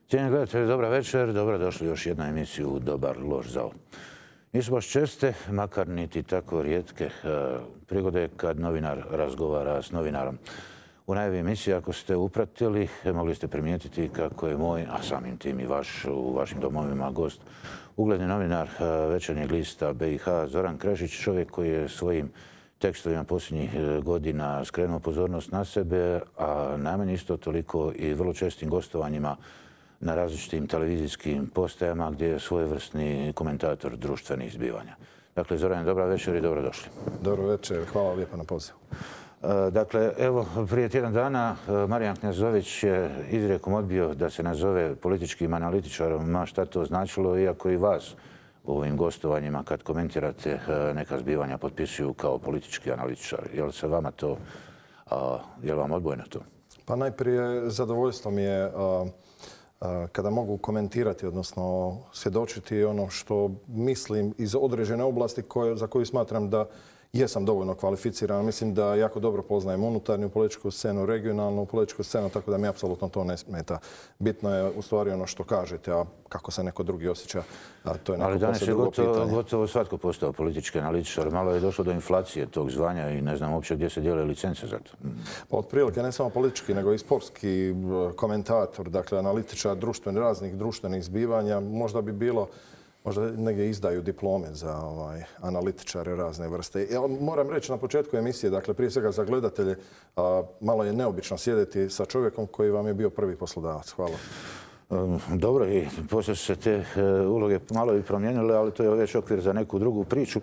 Cijenjeni gledatelji, dobar večer. Dobrodošli u još jednu emisiju Dobar loš zao. Nisu baš česte, makar niti tako rijetke prigode kad novinar razgovara s novinarom. U najavi emisije, ako ste upratili, mogli ste primijetiti kako je moj, a samim tim i vaš u vašim domovima gost, ugledni novinar Večernjeg lista BiH Zoran Krešić, čovjek koji je svojim tekstovima posljednjih godina skrenuo pozornost na sebe, a najmanje isto toliko i vrlo čestim gostovanjima na različitim televizijskim postajama gdje je svojevrsni komentator društvenih zbivanja. Dakle, Zoran, dobra večer i dobrodošli. Dobro večer, hvala lijepo na pozivu. Dakle, evo, prije tjedan dana Marijan Knezović je izrijekom odbio da se nazove političkim analitičarom, ma šta to značilo, iako i vas u ovim gostovanjima kad komentirate neka zbivanja potpisuju kao politički analitičar. Je li se vama to, je li vam odbojno to? Pa najprije zadovoljstvo mi je kada mogu komentirati, odnosno svjedočiti ono što mislim iz određene oblasti za koju smatram da jesam dovoljno kvalificiran. Mislim da jako dobro poznajem unutarnju političku scenu, regionalnu političku scenu, tako da mi apsolutno to ne smeta. Bitno je u stvari ono što kažete, a kako se neko drugi osjeća, to je neko poslije drugo pitanje. Ali danas je gotovo svatko postao politički analitičar. Malo je došlo do inflacije tog zvanja i ne znam uopće gdje se dijele licence za to. Pa otprilike ne samo politički, nego i sportski komentator, dakle analitičar raznih društvenih zbivanja. Možda bi bilo, možda negdje izdaju diplome za analitičare razne vrste. Ja moram reći na početku emisije, dakle prije svega za gledatelje, malo je neobično sjediti sa čovjekom koji vam je bio prvi poslodavac. Hvala. Dobro, i poslije su se te uloge malo i promijenile, ali to je već okvir za neku drugu priču.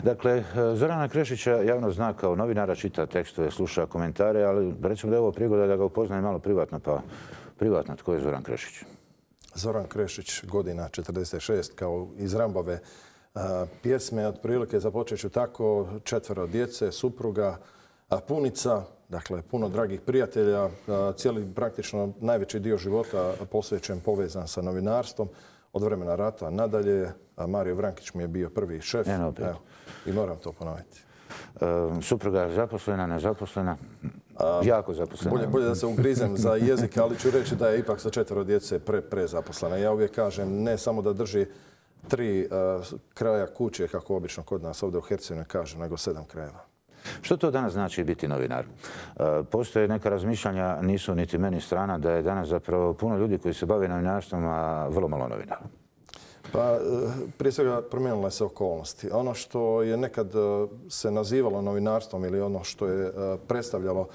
Dakle, Zorana Krešića javno zna kao novinara, čita tekstove, sluša komentare, ali recimo da je ovo prigoda da ga upoznaje malo privatno, pa privatno tko je Zoran Krešić? Zoran Krešić, godina 46, kao iz Rambove pjesme. Otprilike započet ću tako, 4 djece, supruga, punica, dakle puno dragih prijatelja, cijeli praktično najveći dio života posvećen, povezan sa novinarstvom. Od vremena rata nadalje, Mario Vrankić mi je bio prvi šef. Evo, i moram to ponoviti. Supruga zaposlena, nezaposlena? Jako zaposlena. Bolje da se ugrizem za jezik, ali ću reći da je ipak sa 4 djece prezaposlena. Ja uvijek kažem, ne samo da drži 3 kraja kuće, kako obično kod nas ovdje u Hercegovini kaže, nego 7 krajeva. Što to danas znači biti novinar? Postoje neka razmišljanja, nisu niti meni strana, da je danas zapravo puno ljudi koji se bave novinarstvom, a vrlo malo novinara. Pa prije svega promijenile se okolnosti. Ono što je nekad se nazivalo novinarstvom ili ono što je predstavljalo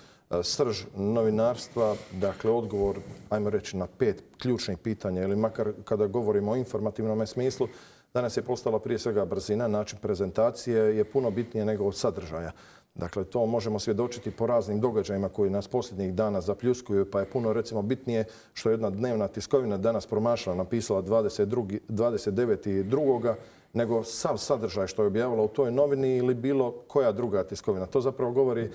srž novinarstva, dakle odgovor, ajmo reći, na 5 ključnih pitanja ili makar kada govorimo o informativnom smislu, danas je postala prije svega brzina, način prezentacije je puno bitnije nego od sadržaja. Dakle, to možemo svjedočiti po raznim događajima koji nas posljednjih dana zapljuskuju, pa je puno recimo bitnije što jedna dnevna tiskovina danas promašala, napisala 29.2. nego sav sadržaj što je objavila u toj novini ili bilo koja druga tiskovina. To zapravo govori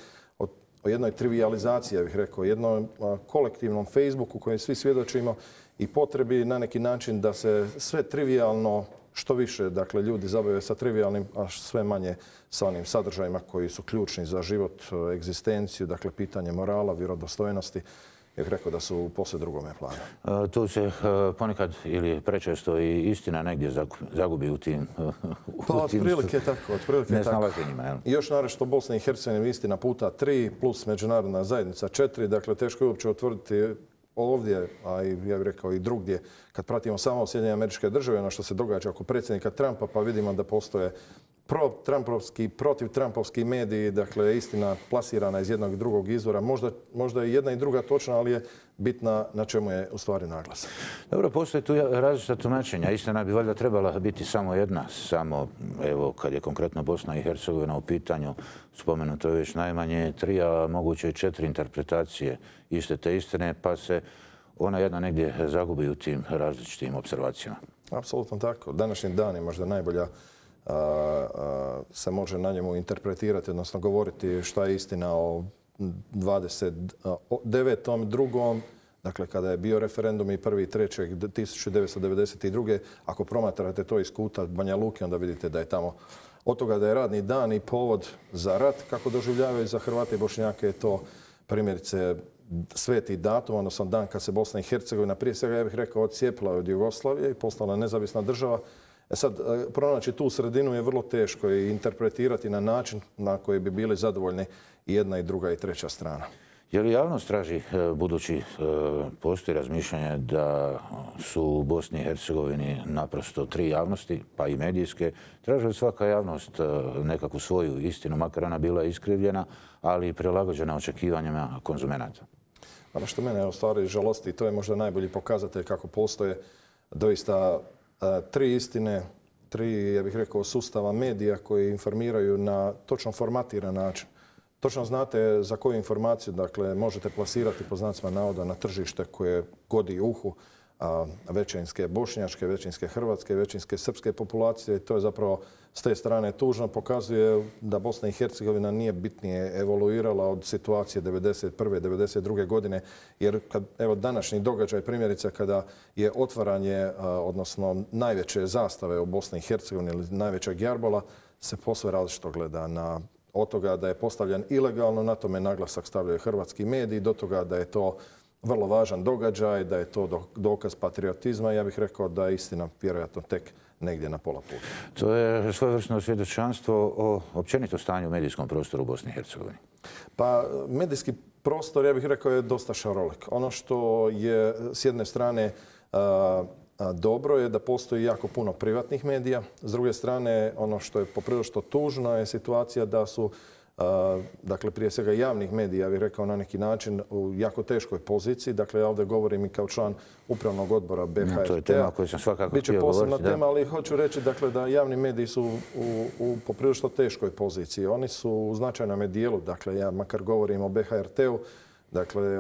o jednoj trivijalizaciji, ja bih rekao, jednom kolektivnom Facebooku kojem svi svjedočimo i potrebi na neki način da se sve trivijalno što više, dakle, ljudi zabave sa trivialnim, a sve manje sa onim sadržajima koji su ključni za život, egzistenciju, dakle, pitanje morala, vjerodostojnosti. Ja bih rekao da su u posve drugome planu. Tu se ponekad ili prečesto i istina negdje zagubi u tim otprilike tako. Nesnalaženjima. I još naravno Bosna i Hercegovina istina puta 3 plus međunarodna zajednica 4. Dakle, teško je uopće utvrditi ovdje, a ja bih rekao i drugdje, kad pratimo samo Sjedinjene Američke Države, ono što se događa oko predsjednika Trumpa, pa vidimo da postoje protiv-trumpovski mediji, dakle istina plasirana iz jednog i drugog izvora. Možda je jedna i druga točna, ali je bitna na čemu je u stvari naglasak. Dobro, postoje tu različita tumačenja. Istina bi valjda trebala biti samo jedna, samo evo kad je konkretno Bosna i Hercegovina u pitanju, spomenuto je već najmanje 3, a moguće i 4 interpretacije iste te istine, pa se ona jedna negdje zagubi u tim različitim observacijama. Apsolutno tako. Današnji dan je možda najbolja se može na njemu interpretirati, odnosno govoriti šta je istina o 29.2. Dakle, kada je bio referendum i 1.3.1992. Ako promatrate to iz kuta Banja Luke, onda vidite da je tamo od toga da je radni dan i povod za rat, kako doživljavaju za Hrvate i Bošnjake, je to primjerice sveti datum, odnosno dan kad se Bosna i Hercegovina, prije svega ja bih rekao, odcijepila od Jugoslavije i postala nezavisna država. Sad, pronaći tu sredinu je vrlo teško i interpretirati na način na koji bi bili zadovoljni i jedna i druga i treća strana. Je li javnost traži, budući postoji razmišljanje da su u Bosni i Hercegovini naprosto tri javnosti, pa i medijske, traži li svaka javnost nekakvu svoju istinu, makar ona bila iskrivljena, ali i prilagođena očekivanjima konzumenata? Ono što mene u stvari žalosti, to je možda najbolji pokazatelj kako postoje doista tri istine, tri, ja bih rekao, sustava medija koji informiraju na točno formatiran način. Točno znate za koju informaciju, dakle, možete plasirati po znacima navoda na tržište koje godi uhu većinske bošnjačke, većinske hrvatske, većinske srpske populacije. I to je zapravo s te strane tužno. Pokazuje da Bosna i Hercegovina nije bitnije evoluirala od situacije 1991. 1992. godine. Jer evo današnji događaj, primjerice kada je otvaranje, odnosno najveće zastave u Bosni i Hercegovini ili najvećeg jarbola, se posve različito gleda od toga da je postavljen ilegalno, na tome naglasak stavljaju hrvatski mediji, do toga da je to vrlo važan događaj, da je to dokaz patriotizma. Ja bih rekao da je istina vjerojatno tek negdje na pola puta. To je svojevrsno svjedočanstvo o općenito stanju u medijskom prostoru u Bosni i Hercegovini. Pa medijski prostor, ja bih rekao, je dosta šarolik. Ono što je s jedne strane dobro je da postoji jako puno privatnih medija. S druge strane, ono što je poprilično tužno je situacija da su, dakle, prije svega javnih medija, ja bih rekao na neki način, u jako teškoj poziciji. Dakle, ja ovdje govorim i kao član upravnog odbora BHRT-a. To je tema koju sam svakako Biće htio govoriti. Biće posebna tema, ali hoću reći dakle, da javni mediji su u poprilično teškoj poziciji. Oni su u značajnom dijelu, dakle, ja makar govorim o BHRT-u, dakle,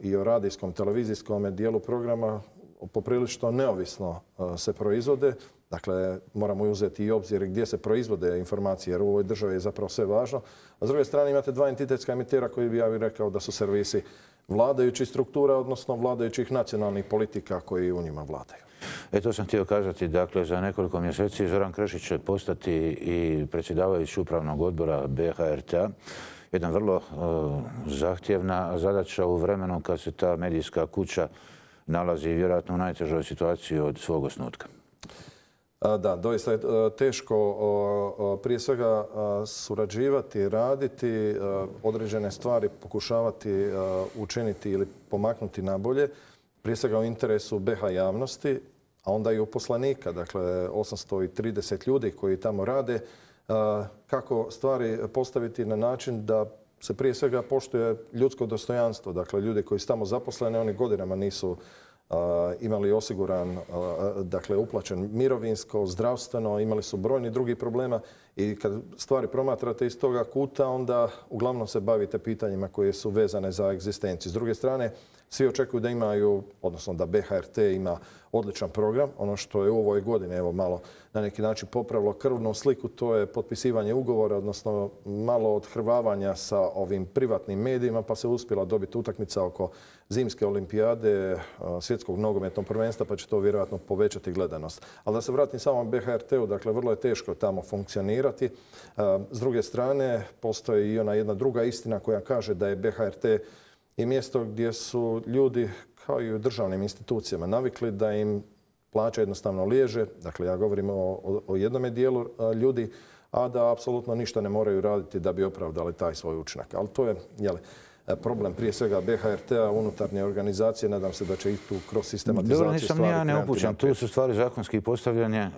i o radijskom, televizijskom dijelu programa, poprilično neovisno se proizvode. Dakle, moramo uzeti i obzir gdje se proizvode informacije, jer u ovoj državi je zapravo sve važno. A s druge strane imate dva entitetska emitera koji bi ja bih rekao da su servisi vladajućih struktura, odnosno vladajućih nacionalnih politika koji u njima vladaju. To sam htio kazati. Dakle, za nekoliko mjeseci Zoran Kršić će postati i predsjedavajući upravnog odbora BHRT-a. Jedna vrlo zahtjevna zadaća u vremenu kad se ta medijska kuća nalazi vjerojatno u najtežoj situaciji od svog osnutka. Da, doista je teško prije svega surađivati, raditi, određene stvari pokušavati učiniti ili pomaknuti nabolje, prije svega u interesu BiH javnosti, a onda i uposlenika, dakle 830 ljudi koji tamo rade, kako stvari postaviti na način da se prije svega poštuje ljudsko dostojanstvo. Dakle, ljudi koji su tamo zaposleni, oni godinama nisu imali osiguran, dakle, uplaćen mirovinsko, zdravstveno, imali su brojni drugi problema i kad stvari promatrate iz toga kuta, onda uglavnom se bavite pitanjima koje su vezane za egzistenciju. S druge strane, svi očekuju da imaju, odnosno da BHRT ima odličan program. Ono što je u ovoj godini, evo malo na neki način popravilo krvnu sliku, to je potpisivanje ugovora, odnosno malo odhrvavanja sa ovim privatnim medijima, pa se uspjela dobiti utakmica oko zimske olimpijade, svjetskog nogometnog prvenstva, pa će to vjerojatno povećati gledanost. Ali da se vratim samo BHRT-u, dakle, vrlo je teško tamo funkcionirati. S druge strane, postoji i ona jedna druga istina koja kaže da je BHRT i mjesto gdje su ljudi, kao i u državnim institucijama, navikli da im plaća jednostavno liježe. Dakle, ja govorim o jednome dijelu ljudi, a da apsolutno ništa ne moraju raditi da bi opravdali taj svoj učinak. Ali to je problem prije svega BHRT-a, unutarnje organizacije. Nadam se da će i tu kroz sistematizaciju stvari... Nisam ni ja neupućen. Tu su stvari zakonski postavljanje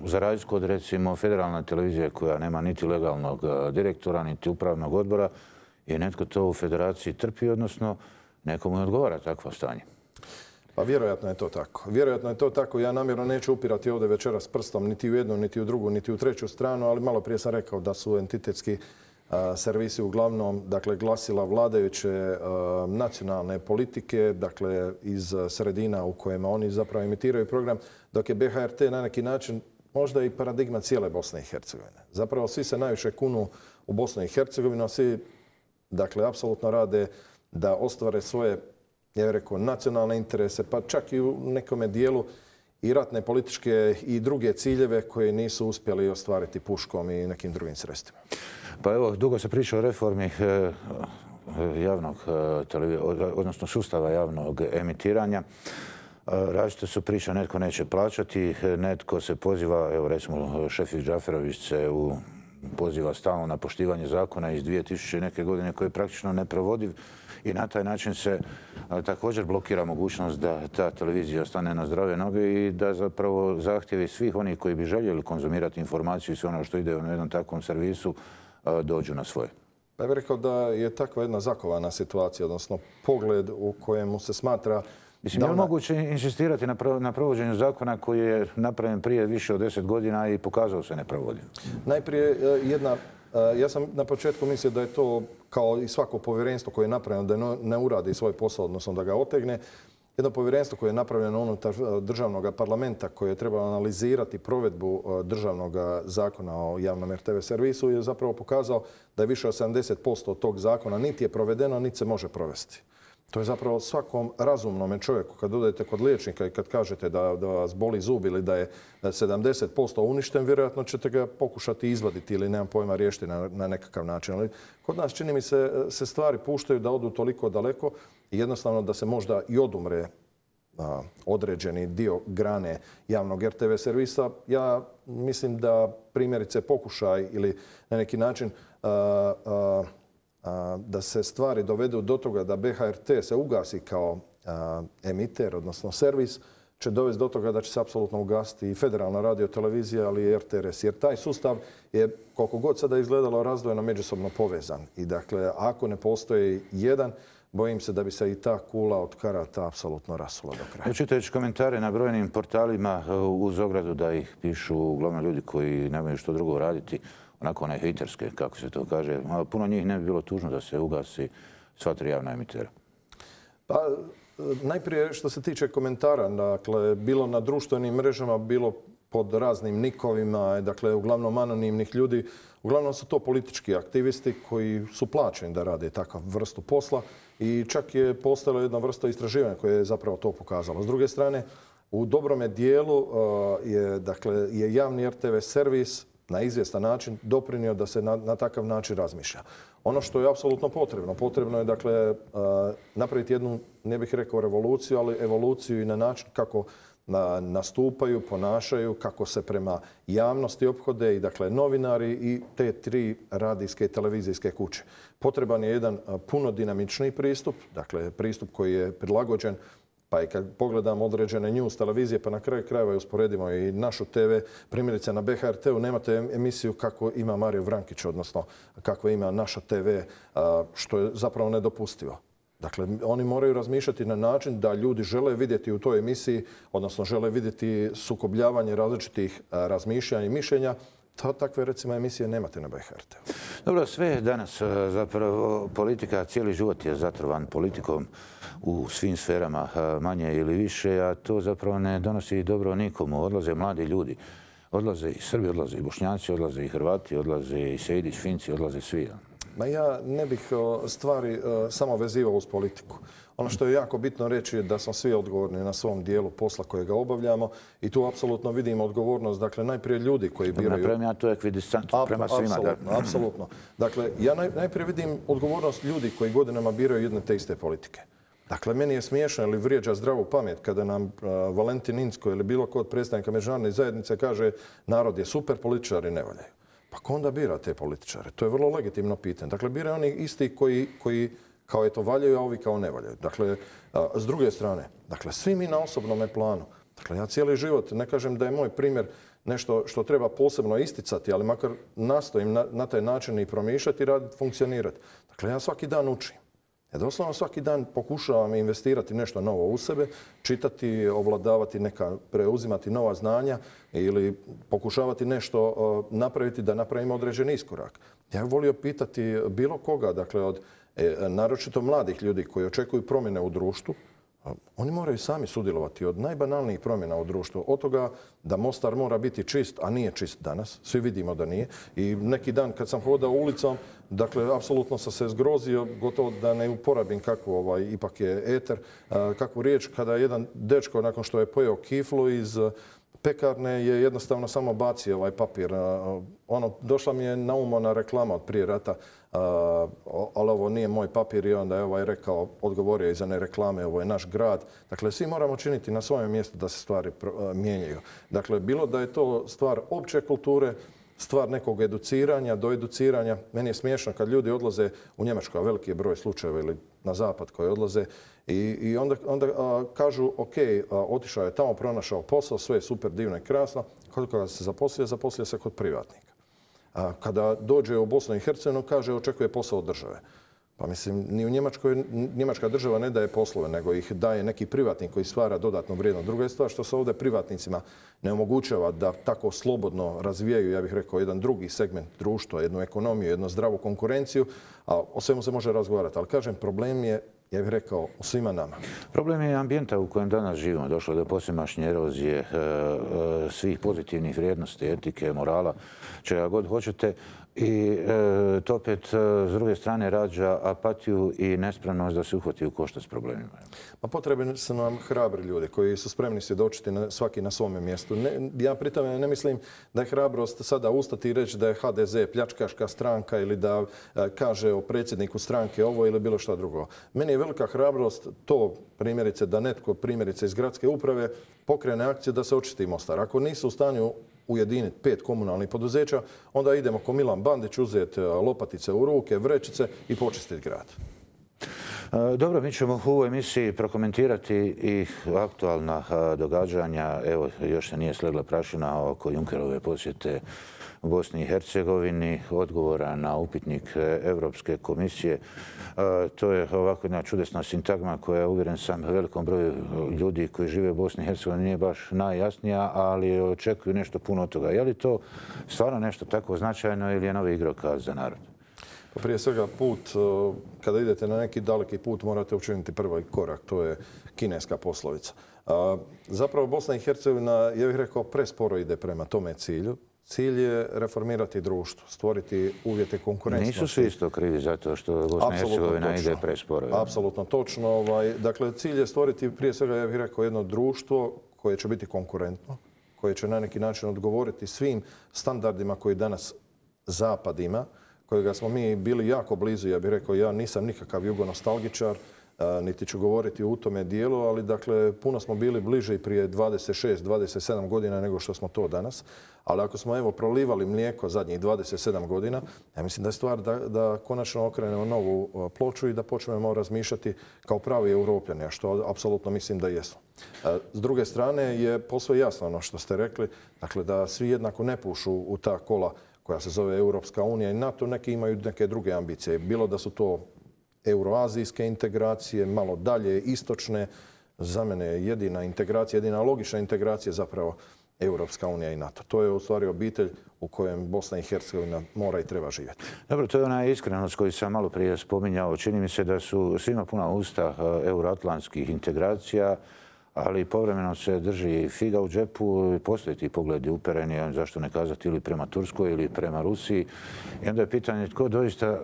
za razliku od, recimo, federalne televizije koja nema niti legalnog direktora, niti upravnog odbora, i netko to u federaciji trpi, odnosno nekomu ne odgovara takvo stanje. Pa vjerojatno je to tako. Vjerojatno je to tako. Ja namjerno neću upirati ovdje večeras prstom niti u jednu, niti u drugu, niti u treću stranu, ali malo prije sam rekao da su entitetski servisi uglavnom, dakle, glasila vladajuće nacionalne politike, dakle, iz sredina u kojima oni zapravo emitiraju program, dok je BHRT na neki način možda i paradigma cijele Bosne i Hercegovine. Zapravo svi se najviše kunu u Bosnu i Hercegovinu, a svi, dakle, apsolutno rade da ostvare svoje, ja bih rekao, nacionalne interese, pa čak i u nekome dijelu i ratne, političke i druge ciljeve koje nisu uspjeli ostvariti puškom i nekim drugim sredstvima. Pa evo, dugo se priča o reformi odnosno sustava javnog emitiranja. Različite su priče, netko neće plaćati, netko se poziva, evo recimo Šefik Džaferović se poziva stalno na poštivanje zakona iz 2000 neke godine koji je praktično neprovodiv i na taj način se također blokira mogućnost da ta televizija ostane na zdrave noge i da zapravo zahtjevi svih onih koji bi željeli konzumirati informaciju i sve ono što ide u jednom takvom servisu dođu na svoje. Ja bih rekao da je takva jedna zakovana situacija, odnosno pogled u kojemu se smatra... Mislim, je li moguće insistirati na provođenju zakona koji je napravljen prije više od 10 godina i pokazao se neprovodiv? Najprije ja sam na početku mislio da je to kao i svako povjerenstvo koje je napravljeno da ne uradi svoj posao, odnosno da ga otegne. Jedno povjerenstvo koje je napravljeno unutar državnog parlamenta koje je trebalo analizirati provedbu državnog zakona o javnom RTV servisu je zapravo pokazao da je više od 70% od tog zakona niti je provedeno, niti se može provesti. To je zapravo svakom razumnom čovjeku, kad odete kod liječnika i kad kažete da vas boli zub ili da je 70% uništen, vjerojatno ćete ga pokušati izvaditi ili nemam pojma riješiti na nekakav način. Ali kod nas čini mi se stvari puštaju da odu toliko daleko i jednostavno da se možda i odumre određeni dio grane javnog RTV servisa. Ja mislim da primjerice pokušaj ili na neki način da se stvari dovedu do toga da BHRT se ugasi kao emiter, odnosno servis, će dovesti do toga da će se apsolutno ugasiti i federalna radiotelevizija, ali i RTRS. Jer taj sustav je, koliko god sada izgledalo, razdvojeno međusobno povezan. I dakle, ako ne postoji jedan, bojim se da bi se i ta kula od karata apsolutno rasula do kraja. Čitajući komentare na brojnim portalima uz ogradu da ih pišu uglavnom ljudi koji nemaju što drugo raditi, onako one hejterske, kako se to kaže, puno njih ne bi bilo tužno da se ugasi sva tri javna emitera. Pa, najprije što se tiče komentara, dakle, bilo na društvenim mrežama, bilo pod raznim nikovima, dakle, uglavnom anonimnih ljudi, uglavnom su to politički aktivisti koji su plaćeni da rade takav vrstu posla i čak je postojala jedna vrsta istraživanja koje je zapravo to pokazalo. S druge strane, u dobrome dijelu je javni RTV servis na izvjestan način doprinio da se na takav način razmišlja. Ono što je apsolutno potrebno je dakle napraviti jednu, ne bih rekao revoluciju, ali evoluciju i na način kako nastupaju, ponašaju, kako se prema javnosti ophode i dakle novinari i te tri radijske i televizijske kuće. Potreban je jedan puno dinamičniji pristup, dakle pristup koji je prilagođen. Pa i kad pogledamo određene news televizije, pa na kraju krajeva usporedimo i našu TV, primjerice na BHRT-u nemate emisiju kako ima Mario Vrankić, odnosno kako ima naša TV, što je zapravo nedopustivo. Dakle, oni moraju razmišljati na način da ljudi žele vidjeti u toj emisiji, odnosno žele vidjeti sukobljavanje različitih razmišljanja i mišljenja. Takve, recimo, emisije nemate na BHRT-u. Dobro, sve je danas zapravo politika, cijeli život je zatrovan politikom u svim sferama, manje ili više, a to zapravo ne donosi dobro nikomu. Odlaze mladi ljudi, odlaze i Srbi, odlaze i Bošnjaci, odlaze i Hrvati, odlaze i Sejdić, Finci, odlaze svi. Ma ja ne bih stvari samo vezivao uz politiku. Ono što je jako bitno reći je da smo svi odgovorni na svom dijelu posla kojega obavljamo i tu apsolutno vidimo odgovornost, dakle, najprije ljudi koji biraju... Napravim ja to ekvidistantno prema svima. Apsolutno. Dakle, ja najprije vidim odgovornost ljudi koji godinama biraju jedne te iste politike. Dakle, meni je smiješno ili vrijeđa zdravu pamet kada nam Valentin Inzko ili bilo ko od predstavnika međunarodne zajednice kaže narod je super, političari ne valjaju. Pa ko onda bira te političare? To je vrlo legitimno pitanje. Dakle, biraju oni isti koji kao eto valjaju, a ovi kao ne valjaju. Dakle, s druge strane, dakle, svi mi na osobnom planu. Dakle, ja cijeli život, ne kažem da je moj primjer nešto što treba posebno isticati, ali makar nastojim na taj način i promišljati i raditi, funkcionirati. Dakle, ja svaki dan učim. Ja doslovno svaki dan pokušavam investirati nešto novo u sebe, čitati, ovladavati preuzimati nova znanja ili pokušavati nešto napraviti da napravimo određeni iskorak. Ja bih volio pitati bilo koga, dakle od naročito mladih ljudi koji očekuju promjene u društvu, oni moraju sami sudjelovati od najbanalnijih promjena u društvu. Od toga da Mostar mora biti čist, a nije čist danas. Svi vidimo da nije. I neki dan kad sam hodao ulicom, dakle, apsolutno sam se zgrozio, gotovo da ne uporabim kakvu, ipak je eter, kakvu riječ kada jedan dečko nakon što je pojeo kiflu iz pekarne je jednostavno samo bacio ovaj papir. Došla mi je na um ona reklama od prije rata ali ovo nije moj papir i onda je ovaj rekao, odgovorio iza ne reklame, ovo je naš grad. Dakle, svi moramo činiti na svojem mjestu da se stvari mijenjaju. Dakle, bilo da je to stvar opće kulture, stvar nekog educiranja, do educiranja. Meni je smiješno kad ljudi odlaze u Njemačku, a veliki je broj slučajeva ili na zapad koji odlaze i onda kažu ok, otišao je tamo, pronašao posao, sve je super, divno i krasno. Koliko se zaposlio se kod privatnika. Kada dođe u Bosnu i Hercegovinu, kaže očekuje posao od države. Pa mislim, ni u Njemačkoj, njemačka država ne daje poslove, nego ih daje neki privatnik koji stvara dodatnu vrijednost. Druga je stvar što se ovdje privatnicima ne omogućava da tako slobodno razvijaju, ja bih rekao, jedan drugi segment društva, jednu ekonomiju, jednu zdravu konkurenciju, a o svemu se može razgovarati. Ali kažem, problem je, ja bih rekao, u svima nama. Problem je ambijenta u kojem danas živimo. Došlo do posvemašnje erozije svih pozitivnih vrijednosti, etike, morala, čega god hoćete. I to opet s druge strane rađa apatiju i nespremnost da se uhvati u koštac s problemima. Pa potrebni su nam hrabri ljudi koji su spremni svjedočiti svaki na svome mjestu. Ja pri tome ne mislim da je hrabrost sada ustati i reći da je HDZ pljačkaška stranka ili da kaže o predsjedniku stranke ovo ili bilo šta drugo. Meni je velika hrabrost to primjerice da netko primjerice iz gradske uprave pokrene akciju da se očisti Mostar. Ako nisu u stanju ujediniti 5 komunalnih poduzeća, onda idemo ko Milan Bandić uzeti lopatice u ruke, vrećice i počistiti grad. Dobro, mi ćemo u ovoj emisiji prokomentirati i aktualna događanja. Evo, još se nije slegla prašina oko Junckerove posjete u Bosni i Hercegovini, odgovora na upitnik Europske komisije. To je ovako jedna čudesna sintagma koja, uvjeren sam, velikom broju ljudi koji žive u Bosni i Hercegovini nije baš najjasnija, ali očekuju nešto puno od toga. Je li to stvarno nešto tako značajno ili je novi igrokaz za narod? Pa prije svega put, kada idete na neki daleki put, morate učiniti prvi korak. To je kineska poslovica. Zapravo Bosna i Hercegovina, ja bih rekao, presporo ide prema tome cilju. Cilj je reformirati društvo, stvoriti uvjete konkurentnosti. Nisu svi isto krivi zato što Bosna i Hercegovina ide presporo. Apsolutno točno. Dakle, cilj je stvoriti prije svega, ja bih rekao, jedno društvo koje će biti konkurentno, koje će na neki način odgovoriti svim standardima koji danas Zapad ima, kojega smo mi bili jako blizu. Ja bih rekao, ja nisam nikakav jugonostalgičar, niti ću govoriti u tome dijelu, ali dakle, puno smo bili bliže i prije 26-27 godina nego što smo to danas. Ali ako smo evo prolivali mlijeko zadnjih 27 godina, ja mislim da je stvar da konačno okrenemo novu ploču i da počnemo razmišljati kao pravi Europljani, a što apsolutno mislim da jesu. S druge strane je posve jasno ono što ste rekli, dakle da svi jednako ne pušu u ta kola koja se zove Europska unija i NATO, neki imaju neke druge ambicije. Bilo da su to euroazijske integracije, malo dalje, istočne. Za mene je jedina integracija, jedina logična integracija zapravo Europska unija i NATO. To je u stvari obitelj u kojem Bosna i Hercegovina mora i treba živjeti. Dobro, to je ona iskrenost koju sam malo prije spominjao. Čini mi se da su svima puna usta euroatlantskih integracija, ali povremeno se drži figa u džepu i postoje ti pogledi upereni, zašto ne kazati, ili prema Turskoj ili prema Rusiji. I onda je pitanje tko doista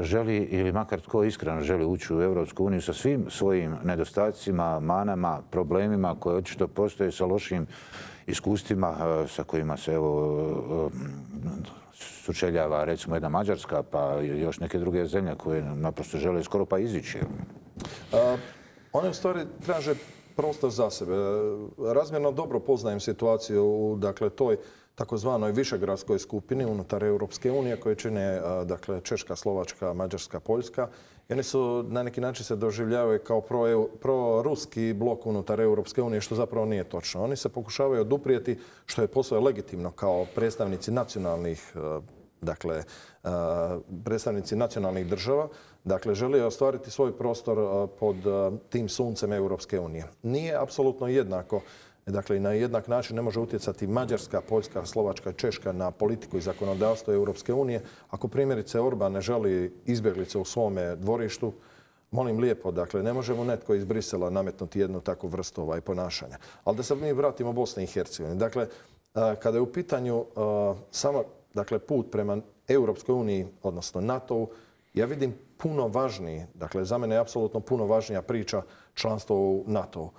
želi, ili makar tko iskreno želi ući u Europsku uniju sa svim svojim nedostacima, manama, problemima koje očito postoje, sa lošim iskustvima sa kojima se sučeljava recimo jedna Mađarska pa još neke druge zemlje koje naprosto žele skoro pa izići. One u stvari traže prostor za sebe. Razmjerno dobro poznajem situaciju u toj takozvanoj višegradskoj skupini unutar Europske unije koje čine Češka, Slovačka, Mađarska, Poljska. I oni su na neki način se doživljavaju kao proruski blok unutar Europske unije, što zapravo nije točno. Oni se pokušavaju oduprijeti, što je posve legitimno kao predstavnici nacionalnih država. Dakle, žele ostvariti svoj prostor pod tim suncem Europske unije. Nije apsolutno jednako. Dakle, i na jednak način ne može utjecati Mađarska, Poljska, Slovačka i Češka na politiku i zakonodavstvo Europske unije. Ako primjerice Orban ne želi izbjeglice u svome dvorištu, molim lijepo, dakle, ne možemo netko iz Brisela nametnuti jednu takvu vrstu ponašanja. Ali da se mi vratimo Bosni i Hercegovini. Dakle, kada je u pitanju samo put prema Europskoj uniji, odnosno NATO-u, ja vidim puno važniji, dakle, za mene je apsolutno puno važnija priča članstvo u NATO-u.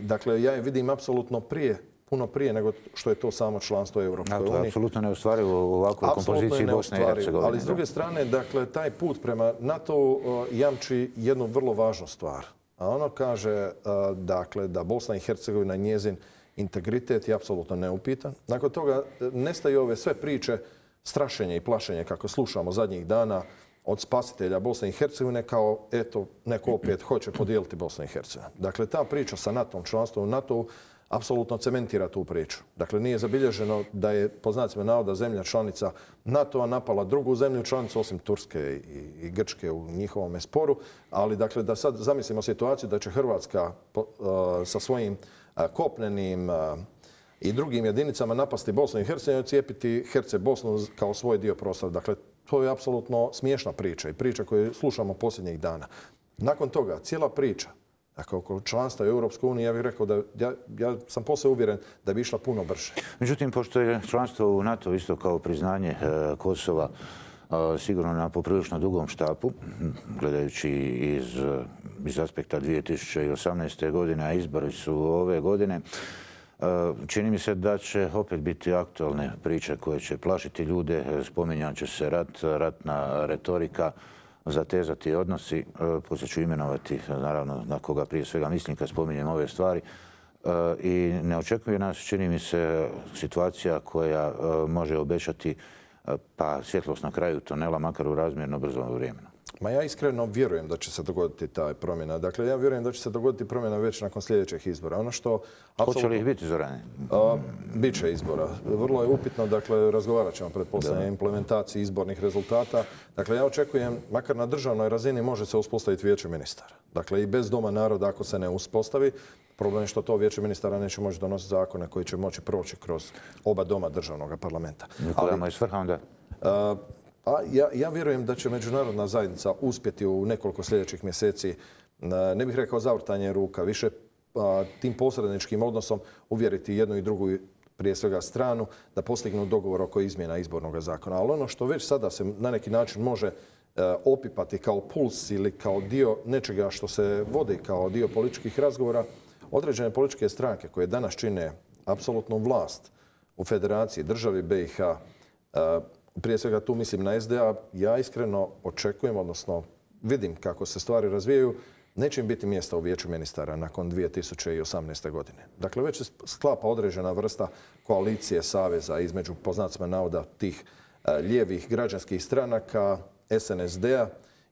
Dakle, ja je vidim apsolutno prije puno prije nego što je to samo članstvo u Europskoj uniji. To je apsolutno neostvarivo u ovakvoj kompoziciji Bosne i Hercegovine. Ali s druge strane, dakle, taj put prema NATO jamči jednu vrlo važnu stvar. A ono kaže, dakle, da Bosna i Hercegovina, njezin integritet je apsolutno neupitan. Nakon toga nestaju ove sve priče, strašenje i plašenje kako slušamo zadnjih dana od spasitelja Bosne i Hercegovine kao, eto, neko opet hoće podijeliti Bosnu i Hercegovinu. Dakle, ta priča sa NATO-om, članstvom u NATO-u, apsolutno cementira tu priču. Dakle, nije zabilježeno da je, po znacima navoda, zemlja članica NATO-a napala drugu zemlju članicu, osim Turske i Grčke u njihovom sporu. Ali, dakle, da sad zamislimo situaciju da će Hrvatska sa svojim kopnenim i drugim jedinicama napasti Bosnu i Hercegovinu i cijepiti Bosnu kao svoj dio prostora. Dakle, to je apsolutno smiješna priča i priča koju slušamo posljednjih dana. Nakon toga, cijela priča, dakle, oko članstva u Europskoj uniji, ja bih rekao da ja sam posve uvjeren da bi išla puno brže. Međutim, pošto je članstvo u NATO isto kao priznanje Kosova sigurno na poprilično dugom štapu, gledajući iz aspekta 2018. godine, a izbori su ove godine, čini mi se da će opet biti aktualne priče koje će plašiti ljude, spominjat će se ratna retorika, zatezati odnosi. Poslije ću imenovati, naravno, na koga prije svega mislim kad spominjem ove stvari. I ne očekuje nas, čini mi se, situacija koja može obećati pa svjetlost na kraju tunela, makar u razmjerno brzom vremenu. Ma ja iskreno vjerujem da će se dogoditi ta promjena. Dakle, ja vjerujem da će se dogoditi promjena već nakon sljedećih izbora. Ono što hoće li ih biti, Zorane? Biće izbora. Vrlo je upitno, dakle, razgovarat ćemo pretpostavljam o implementaciji izbornih rezultata. Dakle, ja očekujem, makar na državnoj razini može se uspostaviti vijeće ministara. Dakle, i bez Doma naroda ako se ne uspostavi, problem je što to vijeće ministara neće moći donositi zakone koji će moći proći kroz oba doma državnog parlamenta. Koja je svrha onda? Ja vjerujem da će međunarodna zajednica uspjeti u nekoliko sljedećih mjeseci, ne bih rekao zavrtanje ruka, više tim posredničkim odnosom uvjeriti jednu i drugu, prije svega stranu, da postignu dogovor oko izmjena izbornog zakona. Ali ono što već sada se na neki način može opipati kao puls ili kao dio nečega što se vodi kao dio političkih razgovora, određene političke stranke koje danas čine apsolutnu vlast u Federaciji, državi BiH, prije svega tu mislim na SDA, ja iskreno očekujem, odnosno vidim kako se stvari razvijaju, neće im biti mjesta u vijeću ministara nakon 2018. godine. Dakle, već se sklapa određena vrsta koalicije, saveza između, po znacima navoda, tih lijevih građanskih stranaka, SNSD-a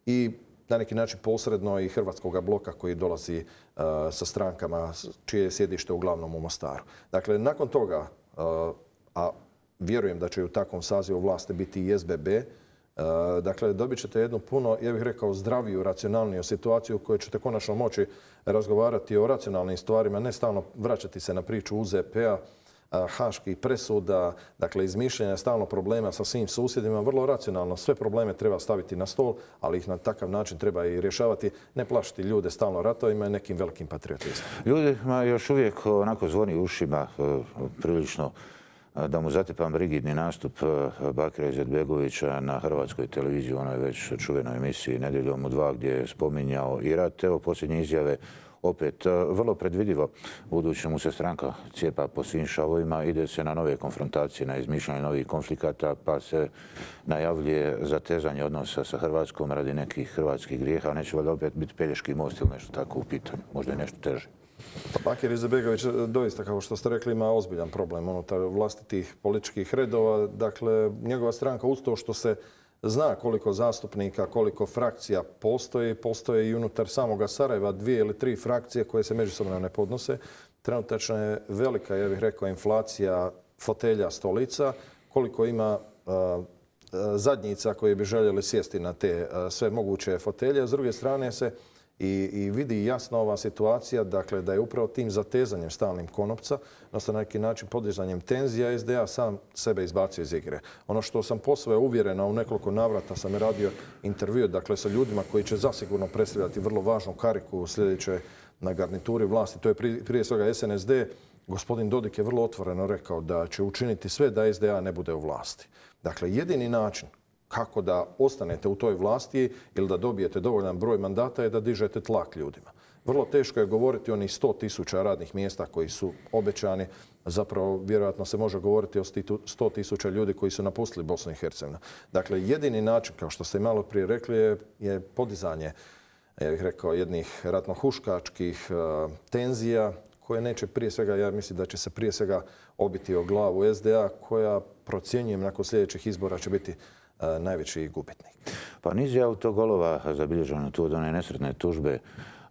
i na neki način posredno i Hrvatskog bloka koji dolazi sa strankama čije je sjedište uglavnom u Mostaru. Dakle, nakon toga, a vjerujem da će u takvom sazivu vlasti biti i SBB. Dakle, dobit ćete jednu puno, ja bih rekao, zdraviju, racionalniju situaciju u kojoj ćete konačno moći razgovarati o racionalnim stvarima, ne stalno vraćati se na priču UZP-a, haških presuda, dakle, izmišljanja stalno problema sa svim susjedima. Vrlo racionalno sve probleme treba staviti na stol, ali ih na takav način treba i rješavati, ne plašiti ljude stalno ratovima i nekim velikim patriotizmom. Ljudima još uvijek onako zvoni ušima prilično da mu zatepam rigidni nastup Bakira Izetbegovića na hrvatskoj televiziji, u onoj već čuvenoj emisiji Nedjeljom u 2 gdje je spominjao i rat. Evo posljednje izjave opet vrlo predvidivo, budući mu se stranka cijepa po svim šavovima, ide se na nove konfrontacije, na izmišljanje novih konflikata, pa se najavljuje zatezanje odnosa sa Hrvatskom radi nekih hrvatskih grijeha, neće valjda opet biti Pelješki most ili nešto tako u pitanju, možda je nešto teže. Bakir Izetbegović doista, kao što ste rekli, ima ozbiljan problem unutar vlastitih političkih redova. Dakle, njegova stranka uz to što se zna koliko zastupnika, koliko frakcija postoje i unutar samoga Sarajeva 2 ili 3 frakcije koje se međusobno ne podnose. Trenutačno je velika, ja bih rekao, inflacija fotelja, stolica, koliko ima zadnjica koje bi željeli sjesti na te sve moguće fotelje. S druge strane se i vidi jasno ova situacija, dakle, da je upravo tim zatezanjem stalnim konopca, odnosno na neki način podizanjem tenzija, SDA sam sebe izbacio iz igre. Ono što sam posve uvjeren, a u nekoliko navrata sam radio intervju, dakle, sa ljudima koji će zasigurno predstavljati vrlo važnu kariku u sljedećoj na garnituri vlasti, to je prije svega SNSD. Gospodin Dodik je vrlo otvoreno rekao da će učiniti sve da SDA ne bude u vlasti. Dakle, jedini način kako da ostanete u toj vlasti ili da dobijete dovoljan broj mandata je da dižete tlak ljudima. vrlo teško je govoriti o onih 100.000 radnih mjesta koji su obećani. Zapravo, vjerojatno se može govoriti o 100.000 ljudi koji su napustili Bosnu i Hercegovinu. Dakle, jedini način, kao što ste i malo prije rekli, je podizanje, ja bih rekao, jednih ratno-huškačkih tenzija koje neće prije svega, ja mislim da će se prije svega obiti o glavu SDA, koja, procjenjujem, nakon sljedećih izbora će biti najveći gubitnik. Pa niz je autogolova zabilježeno tu od one nesretne tužbe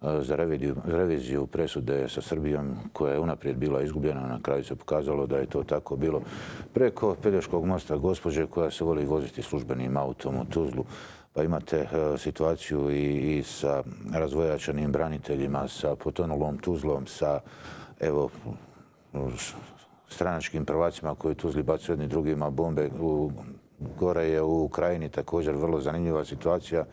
za reviziju presude sa Srbijom koja je unaprijed bila izgubljena. Na kraju se pokazalo da je to tako bilo preko Pelješkog mosta gospođe koja se voli voziti službenim autom u Tuzlu. Pa imate situaciju i sa razvojačanim braniteljima, sa potonulom Tuzlom, sa stranačkim prvacima koji u Tuzli bacaju jedni drugima bombe. Gore je u Ukrajini također vrlo zanimljiva situacija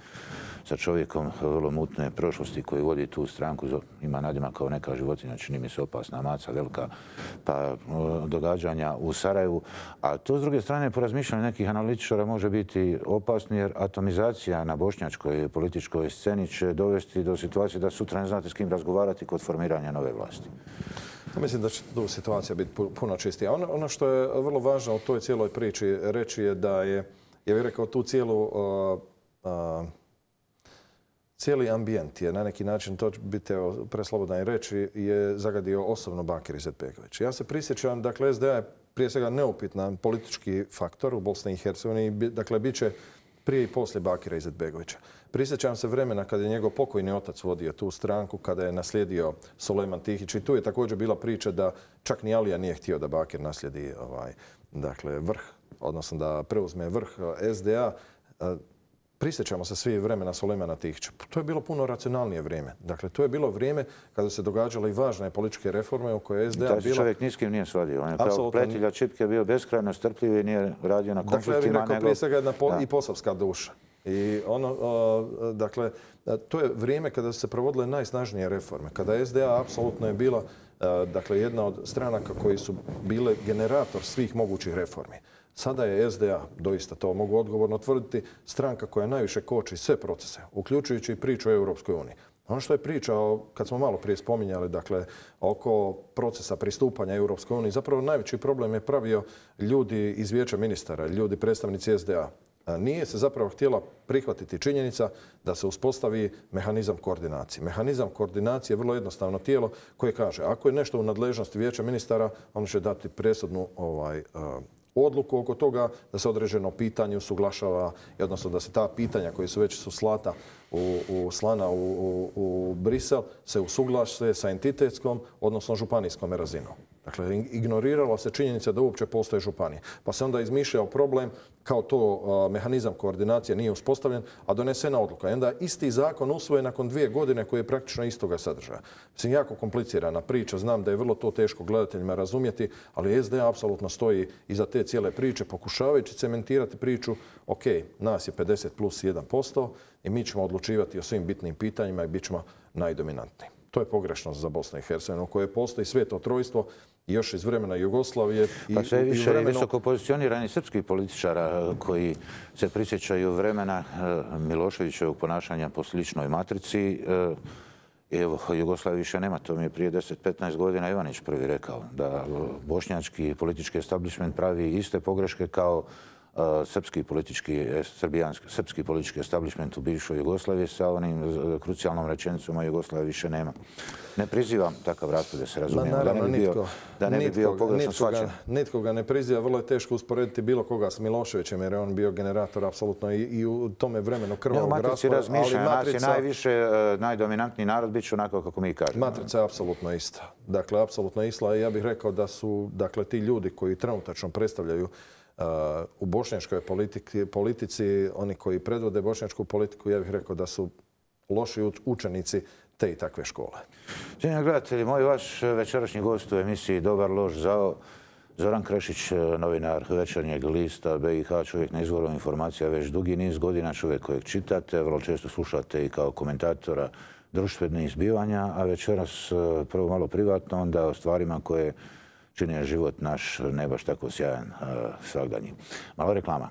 sa čovjekom vrlo mutne prošlosti koji vodi tu stranku. Ima nadimak kao neka životinja, čini mi se opasna maca, velika, pa događanja u Sarajevu. A to s druge strane, po razmišljanju nekih analitičara, može biti opasno jer atomizacija na bošnjačkoj političkoj sceni će dovesti do situacije da sutra ne znate s kim razgovarati kod formiranja nove vlasti. Mislim da će tu situacija biti puno čistija. Ono što je vrlo važno u toj cijeloj priči reći je da je, ja bih rekao, tu cijeli ambijent je na neki način, to biti preslobodan i reći, je zagadio osobno Bakir Izetbegović. Ja se prisjećam, dakle, SDA je prije svega neupitan politički faktor u Bosni i Hercegovini, dakle, bit će prije i poslije Bakira Izetbegovića. Prisjećam se vremena kada je njegov pokojni otac vodio tu stranku, kada je naslijedio Sulejman Tihić i tu je također bila priča da čak ni Alija nije htio da Bakir naslijedi vrh, odnosno da preuzme vrh SDA. Prisjećamo se svi vremena Sulejmana Tihića. To je bilo puno racionalnije vrijeme. Dakle, to je bilo vrijeme kada se događale i važne političke reforme u koje SDA bila... Taj čovjek ni s kim nije svadio. On je kao pletilja čipke bio beskrajno strpljiv i nije radio na konfliktima. Dakle, ja bih rekao prije svega jedna i posavska duša. I dakle, to je vrijeme kada su se provodile najsnažnije reforme. Kada SDA apsolutno je bila jedna od stranaka koji su bile generator svih mogućih reformi. Sada je SDA, doista to mogu odgovorno tvrditi, stranka koja najviše koči sve procese, uključujući i priču o Europskoj uniji. Ono što je pričao, kad smo malo prije spominjali, dakle, oko procesa pristupanja Europskoj uniji, zapravo najveći problem je pravio ljudi iz Vijeća ministara, ljudi predstavnici SDA. Nije se zapravo htjela prihvatiti činjenica da se uspostavi mehanizam koordinacije. Mehanizam koordinacije je vrlo jednostavno tijelo koje kaže ako je nešto u nadležnosti Vijeća ministara, on će dati presudnu odluku oko toga da se određeno pitanje usuglašava, odnosno da se ta pitanja koji su već slana u Brisel se usuglase sa entitetskom, odnosno županijskom razinom. Dakle, ignorirala se činjenica da uopće postoje županije. Pa se onda izmišljao problem kao to mehanizam koordinacije nije uspostavljen, a donesena odluka. I onda isti zakon usvojen nakon 2 godine koji je praktično istoga sadržaja. Mislim, jako komplicirana priča. Znam da je vrlo to teško gledateljima razumjeti, ali SDA apsolutno stoji iza te cijele priče, pokušavajući cementirati priču. Ok, nas je 50 plus 1% i mi ćemo odlučivati o svim bitnim pitanjima i bit ćemo najdominantniji. To je pogrešnost za Bosnu i Hercegovinu, u kojoj postoji sveto trojstvo još iz vremena Jugoslavije. Pa sve više visoko pozicionirani srpskih političara koji se prisjećaju vremena Miloševićevog ponašanja po sličnoj matrici. Evo, Jugoslavije više nema. To mi je prije 10-15 godina Ivanić prvi rekao da bošnjački politički establishment pravi iste pogreške kao srpski politički establishment u bivšoj Jugoslaviji sa onim krucijalnom rečenicom, a Jugoslavije više nema. Ne prizivam takav raspad, da se razumijemo. Da ne bi bio pogrešno shvaćen. Nitko ga ne priziva. Vrlo je teško usporediti bilo koga s Miloševićem jer je on bio generator apsolutno i u tome vremenu krvavog raspada. Nas je najviše, najdominantniji narod, bit će onako kako mi kažemo. Matrica je apsolutno ista. Dakle, apsolutno ista. Ja bih rekao da su ti ljudi koji trenutačno predstavljaju u bošnjačkoj politici, oni koji predvode bošnjačku politiku, ja bih rekao da su loši učenici te i takve škole. Cijenjeni gledatelji, moj vaš večerašnji gost u emisiji Dobar, loš, zao, Zoran Krešić, novinar Večernjeg lista BiH, čovjek na izvoru informacija već dugi niz godina, čovjek kojeg čitate, vrlo često slušate i kao komentatora društvenih zbivanja, a večeras prvo malo privatno, onda o stvarima koje čini život naš ne baš tako sjajan svagdanji. Malo reklama.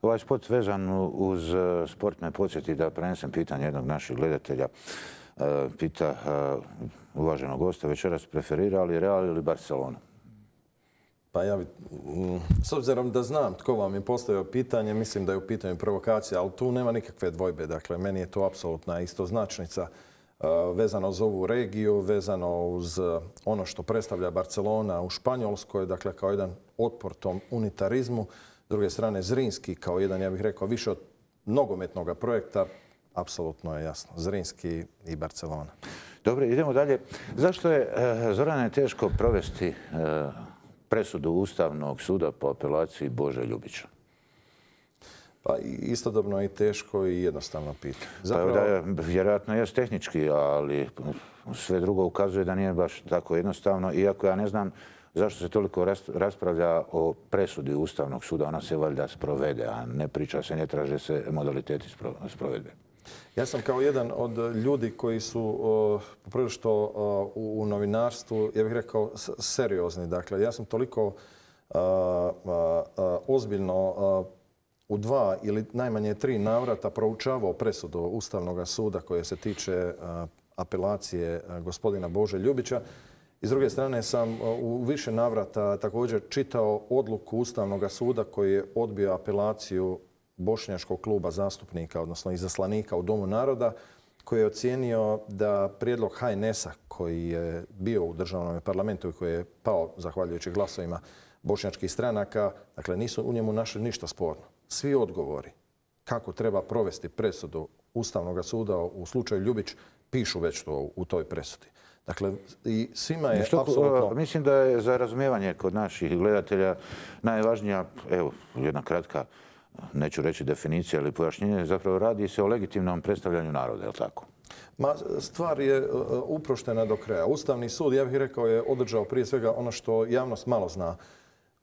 Ovaj spot vezan uz sport me podsjeti da prenesem pitanje jednog naših gledatelja. Pita uvaženog gosta večeras, preferira li Real ili Barcelona? Pa ja s obzirom da znam tko vam je postavio pitanje, mislim da je u pitanju provokacija, ali tu nema nikakve dvojbe. Dakle, meni je to apsolutna istoznačnica vezano uz ovu regiju, vezano uz ono što predstavlja Barcelona u Španjolskoj, dakle kao jedan otpor tom unitarizmu. S druge strane, Zrinski kao jedan, ja bih rekao, više od nogometnog projekta, apsolutno je jasno. Zrinski i Barcelona. Dobro, idemo dalje. Zašto je, Zorane, teško provesti presudu Ustavnog suda po apelaciji Bože Ljubića? Pa istodobno i teško i jednostavno pitanje. Zapravo, vjerojatno je tehnički, ali sve drugo ukazuje da nije baš tako jednostavno. Iako ja ne znam zašto se toliko raspravlja o presudi Ustavnog suda. Ona se valjda sprovede, a ne priča se, ne traže se modaliteti sprovedbe. Ja sam kao jedan od ljudi koji su poprilično u novinarstvu, ja bih rekao, seriozni. Dakle, ja sam toliko ozbiljno u 2 ili najmanje 3 navrata proučavao presudu Ustavnog suda koje se tiče apelacije gospodina Bože Ljubića. I s druge strane sam u više navrata također čitao odluku Ustavnog suda koji je odbio apelaciju Bošnjačkog kluba zastupnika, odnosno izaslanika u Domu naroda, koji je ocijenio da prijedlog HNS-a koji je bio u državnom parlamentu i koji je pao zahvaljujući glasovima bošnjačkih stranaka, dakle nisu u njemu našli ništa sporno. Svi odgovori kako treba provesti presudu Ustavnog suda u slučaju Ljubić pišu već to u toj presudi. Dakle, i svima je apsolutno... Mislim da je za razumijevanje kod naših gledatelja najvažnija, evo, jedna kratka, neću reći definicija ili pojašnjenje, zapravo radi se o legitimnom predstavljanju naroda, je li tako? Stvar je uproštena do kraja. Ustavni sud, ja bih rekao, je održao prije svega ono što javnost malo zna.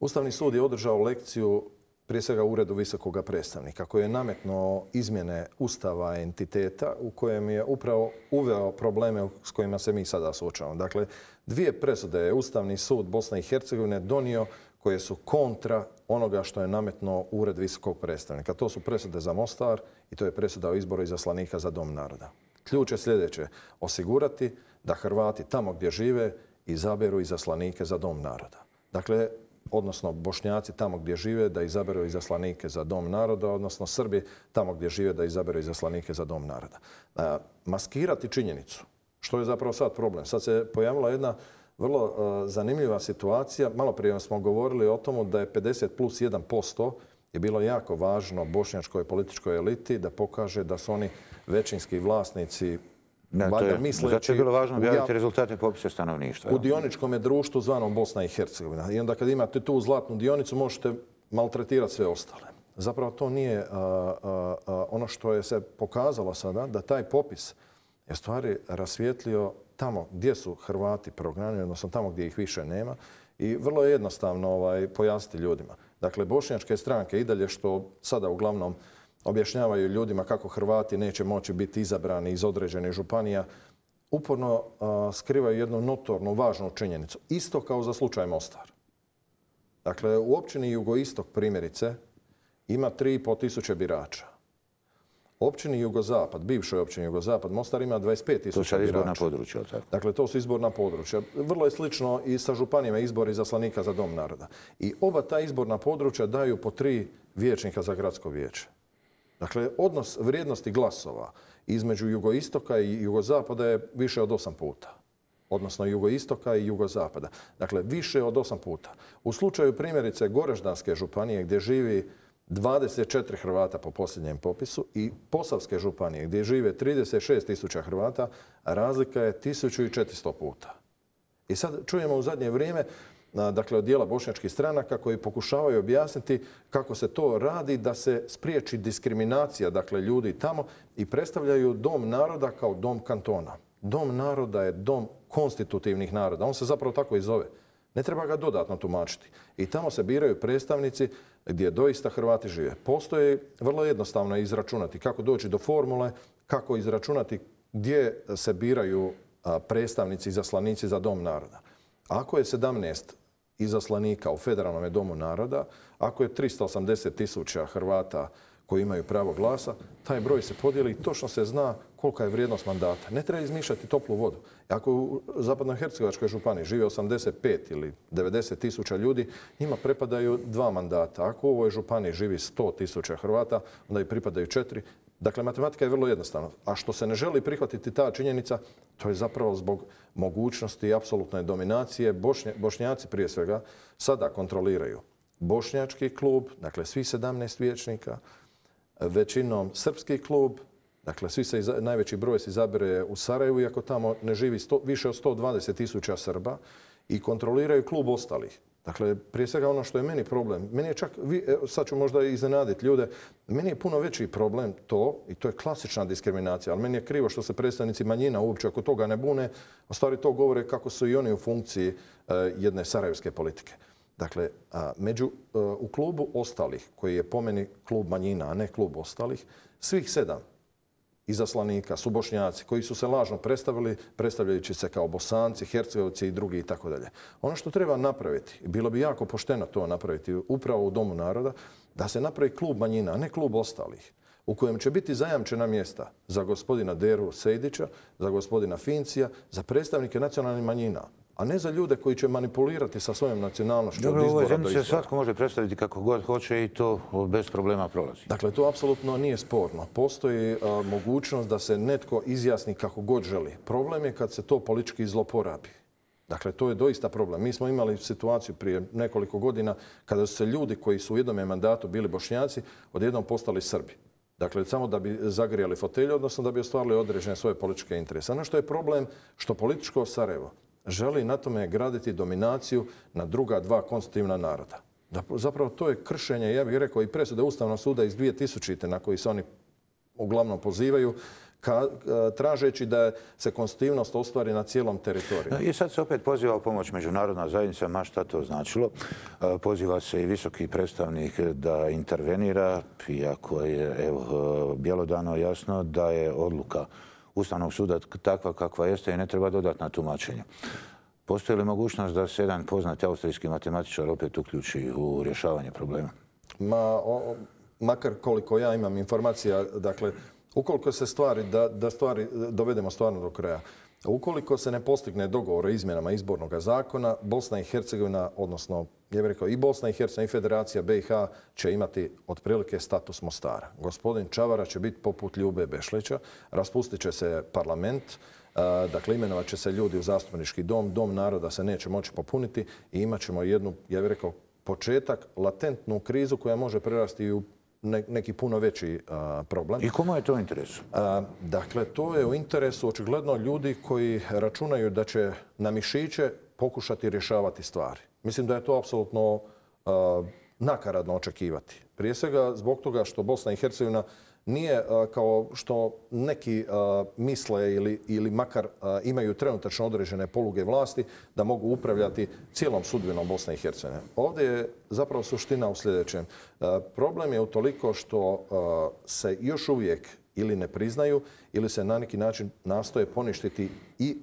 Ustavni sud je održao lekciju prije svega Uredu visokog predstavnika koji je nametnuo izmjene Ustava entiteta u kojem je upravo uveo probleme s kojima se mi sada suočavamo. Dakle, 2 presude je Ustavni sud Bosne i Hercegovine donio koje su kontra onoga što je nametnuo Ured visokog predstavnika. To su presude za Mostar i to je presuda o izboru izaslanika za Dom naroda. Ključ je sljedeće: osigurati da Hrvati tamo gdje žive izaberu izaslanike za Dom naroda. Dakle, odnosno Bošnjaci tamo gdje žive da izaberu izaslanike za Dom naroda, odnosno Srbi tamo gdje žive da izaberu izaslanike za Dom naroda. Maskirati činjenicu, što je zapravo sad problem. Sad se pojavila jedna vrlo zanimljiva situacija. Malo prije smo govorili o tomu da je 50+1% je bilo jako važno bošnjačkoj političkoj eliti da pokaže da su oni većinski vlasnici. Zato je bilo važno objaviti rezultate popisa stanovništva. U dioničkom društvu zvanom Bosna i Hercegovina. I onda kad imate tu zlatnu dionicu možete maltretirati sve ostale. Zapravo to nije ono što je se pokazalo sada, da taj popis je stvari rasvijetlio tamo gdje su Hrvati prognani, odnosno tamo gdje ih više nema. I vrlo je jednostavno pojasniti ljudima. Dakle, bošnjačke stranke i dalje što sada uglavnom objašnjavaju ljudima kako Hrvati neće moći biti izabrani iz određenih županija, uporno skrivaju jednu notornu, važnu činjenicu. Isto kao za slučaj Mostar. Dakle, u općini Jugoistok, primjerice, ima 3.500 birača. Općini Jugozapad, bivšoj općini Jugozapad, Mostar ima 25.000 birača. To su izborna područja, tako? Dakle, to su izborna područja. Vrlo je slično i sa županijama izbori izaslanika za Dom naroda. I oba ta izborna područja daju po 3 vijećnika za gradsko vijeće. Dakle, odnos vrijednosti glasova između jugoistoka i jugozapada je više od 8 puta. Odnosno jugoistoka i jugozapada. Dakle, više od 8 puta. U slučaju primjerice Goraždanske županije gdje živi 24 Hrvata po posljednjem popisu i Posavske županije gdje žive 36.000 Hrvata, razlika je 1400 puta. I sad čujemo u zadnje vrijeme dakle od dijela bošnjačkih stranaka koji pokušavaju objasniti kako se to radi da se spriječi diskriminacija dakle ljudi tamo i predstavljaju Dom naroda kao dom kantona. Dom naroda je dom konstitutivnih naroda. On se zapravo tako i zove. Ne treba ga dodatno tumačiti. I tamo se biraju predstavnici gdje doista Hrvati žive. Postoje vrlo jednostavno izračunati kako doći do formule, kako izračunati gdje se biraju predstavnici, izaslanici za Dom naroda. Ako je 17 izaslanika u Federalnom domu naroda, ako je 380.000 Hrvata koji imaju pravo glasa, taj broj se podijeli i točno se zna kolika je vrijednost mandata. Ne treba izmišljati toplu vodu. Ako u Zapadnohercegovačkoj županiji živi 85 ili 90.000 ljudi, njima pripadaju 2 mandata. Ako u ovoj županiji živi 100.000 Hrvata, onda im pripadaju 4. Dakle, matematika je vrlo jednostavna. A što se ne želi prihvatiti ta činjenica, to je zapravo zbog mogućnosti apsolutne dominacije. Bošnjaci prije svega sada kontroliraju bošnjački klub, dakle svi 17 vijećnika, većinom srpski klub, dakle najveći broj se izabere u Sarajevu, iako tamo ne živi više od 120.000 Srba, i kontroliraju klub ostalih. Dakle, prije svega ono što je meni problem, meni je čak, sad ću možda iznenaditi ljude, meni je puno veći problem to, i to je klasična diskriminacija, ali meni je krivo što se predstavnici manjina uopće oko toga ne bune, u stvari to govore kako su i oni u funkciji jedne sarajevske politike. Dakle, u klubu ostalih, koji je po meni klub manjina, a ne klub ostalih, svih 7 izaslanika su Bošnjaci koji su se lažno predstavili, predstavljajući se kao Bosanci, Hercegovci i drugi itd. Ono što treba napraviti, i bilo bi jako pošteno to napraviti upravo u Domu naroda, da se napravi klub manjina, a ne klub ostalih, u kojem će biti zajamčena mjesta za gospodina Deru Sejdića, za gospodina Fincija, za predstavnike nacionalnih manjina, a ne za ljude koji će manipulirati sa svojom nacionalnošću. Dobro, u ovoj zemlji se svatko može predstaviti kako god hoće i to bez problema prolazi. Dakle, to apsolutno nije sporno. Postoji mogućnost da se netko izjasni kako god želi. Problem je kad se to politički zloporabi. Dakle, to je doista problem. Mi smo imali situaciju prije nekoliko godina kada su se ljudi koji su u jednome mandatu bili Bošnjaci odjednom postali Srbi. Dakle, samo da bi zagrijali fotelje, odnosno da bi ostvarili određene svoje političke interese. Ono što je problem, što političko Sarajevo želi na tome graditi dominaciju na druga 2 konstitutivna naroda. Zapravo to je kršenje, ja bih rekao, i presude Ustavnog suda iz 2000. na koji se oni uglavnom pozivaju, tražeći da se konstitutivnost ostvari na cijelom teritoriju. I sad se opet poziva u pomoć međunarodna zajednica, ma šta to značilo. Poziva se i visoki predstavnik da intervenira, iako je bjelodano jasno da je odluka Ustavnog suda takva kakva jeste i ne treba dodatna tumačenja. Postoji li mogućnost da se jedan poznati austrijski matematičar opet uključi u rješavanje problema? Makar koliko ja imam informacija, dakle, ukoliko se da stvari dovedemo stvarno do kraja, ukoliko se ne postigne dogovor o izmjenama izbornog zakona, Bosna i Hercegovina, odnosno, ja bih rekao, i Bosna i Hercegovina i Federacija BiH će imati otprilike status Mostara. Gospodin Čavara će biti poput Ljube Bešlića, raspustit će se parlament, dakle, imenovat će se ljudi u zastupnički dom, Dom naroda se neće moći popuniti i imat ćemo jednu, ja bih rekao, početak, latentnu krizu koja može prerasti u neki puno veći problem. I komu je to u interesu? Dakle, to je u interesu očigledno ljudi koji računaju da će na mišiće pokušati rješavati stvari. Mislim da je to apsolutno nakaradno očekivati. Prije svega zbog toga što Bosna i Hercegovina nije kao što neki misle ili makar imaju trenutačno određene poluge vlasti da mogu upravljati cijelom sudbinom Bosne i Hercegovine. Ovdje je zapravo suština u sljedećem. Problem je utoliko što se još uvijek ili ne priznaju ili se na neki način nastoje poništiti i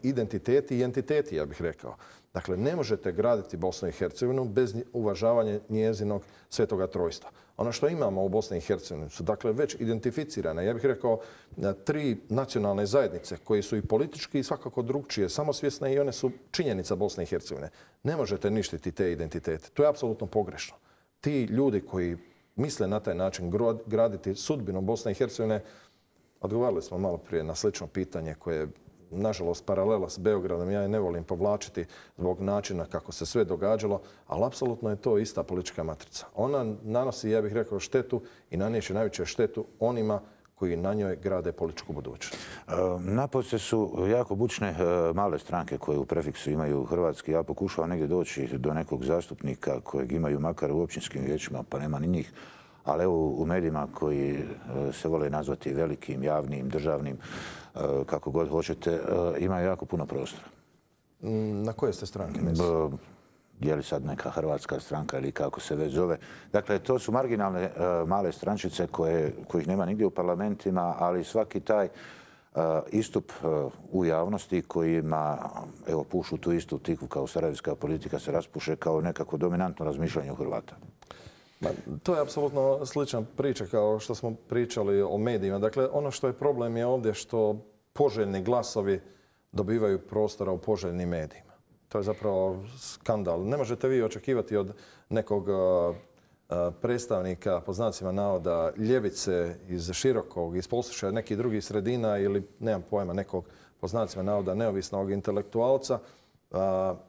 identiteti i entiteti, ja bih rekao. Dakle, ne možete graditi Bosnu i Hercegovinu bez uvažavanja njezinog svetoga trojstva. Ono što imamo u Bosni i Hercegovini su dakle već identificirane, ja bih rekao, 3 nacionalne zajednice koje su i politički i svakako drugčije, samosvjesne i one su činjenica Bosne i Hercegovine. Ne možete ništiti te identitete. To je apsolutno pogrešno. Ti ljudi koji misle na taj način graditi sudbinu Bosne i Hercegovine, odgovarali smo malo prije na slično pitanje koje je nažalost paralela s Beogradom, ja je ne volim povlačiti zbog načina kako se sve događalo, ali apsolutno je to ista politička matrica. Ona nanosi, ja bih rekao, štetu i nanijeće najveću štetu onima koji na njoj grade političku budućnost. Napose su jako bučne male stranke koje u prefiksu imaju hrvatski. Ja pokušavam negdje doći do nekog zastupnika kojeg imaju makar u općinskim vijećima, pa nema ni njih. Ali evo u medijima koji se vole nazvati velikim, javnim, državnim, kako god hoćete, imaju jako puno prostora. Na koje ste stranke? Je li sad neka hrvatska stranka ili kako se već zove. Dakle, to su marginalne male strančice kojih nema nigdje u parlamentima, ali svaki taj istup u javnosti kojima evo, pušu tu istu tikvu kao sarajevska politika se raspuše kao nekako dominantno razmišljanje u Hrvata. To je apsolutno slična priča kao što smo pričali o medijima. Dakle, ono što je problem je ovdje što poželjni glasovi dobivaju prostora u poželjnim medijima. To je zapravo skandal. Ne možete vi očekivati od nekog predstavnika, po znacima navoda, ljevice iz Širokog, iz Posušja, nekih drugih sredina ili, nemam pojma, nekog, po znacima navoda, neovisnog intelektualca.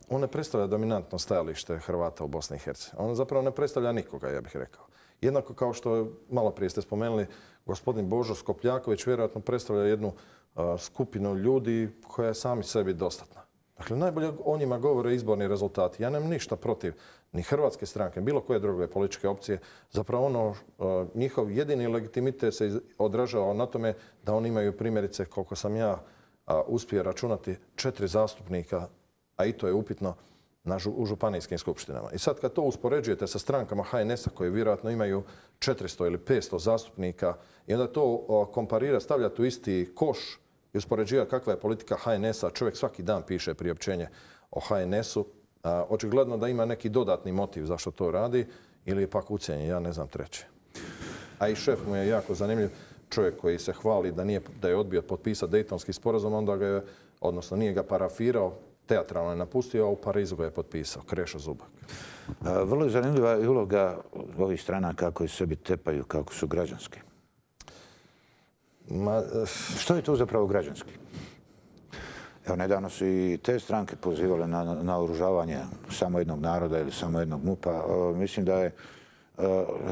On ne predstavlja dominantno stajalište Hrvata u Bosni i Hercegovini. On zapravo ne predstavlja nikoga, ja bih rekao. Jednako kao što malo prije ste spomenuli, gospodin Božo Skopljaković vjerojatno predstavlja jednu skupinu ljudi koja je sami sebi dostatna. Dakle, najbolje o njima govore izborni rezultati. Ja nemam ništa protiv ni hrvatske stranke, bilo koje druge političke opcije. Zapravo ono, njihov jedini legitimitet se odražava na tome da oni imaju primjerice, koliko sam ja uspio računati, 4 zastupnika, a i to je upitno, u županijskim skupštinama. I sad kad to uspoređujete sa strankama HNS-a koje vjerojatno imaju 400 ili 500 zastupnika i onda to komparira, stavljati u isti koš i uspoređivati kakva je politika HNS-a, čovjek svaki dan piše priopćenje o HNS-u, očigledno da ima neki dodatni motiv zašto to radi ili je pak ucijenjen, ja ne znam treće. A i šef mu je jako zanimljiv, čovjek koji se hvali da je odbio potpisati Dejtonski sporazum, onda ga je, odnosno nije ga parafirao, teatralno je napustio, a u Parizu ga je potpisao, Krešo Zubak. Vrlo je zanimljiva i uloga ovih stranaka koji sebi tepaju kako su građanski. Što je to zapravo građanski? Evo, nedavno su i te stranke pozivale na naoružavanje samo jednog naroda ili samo jednog MUP-a. Mislim da je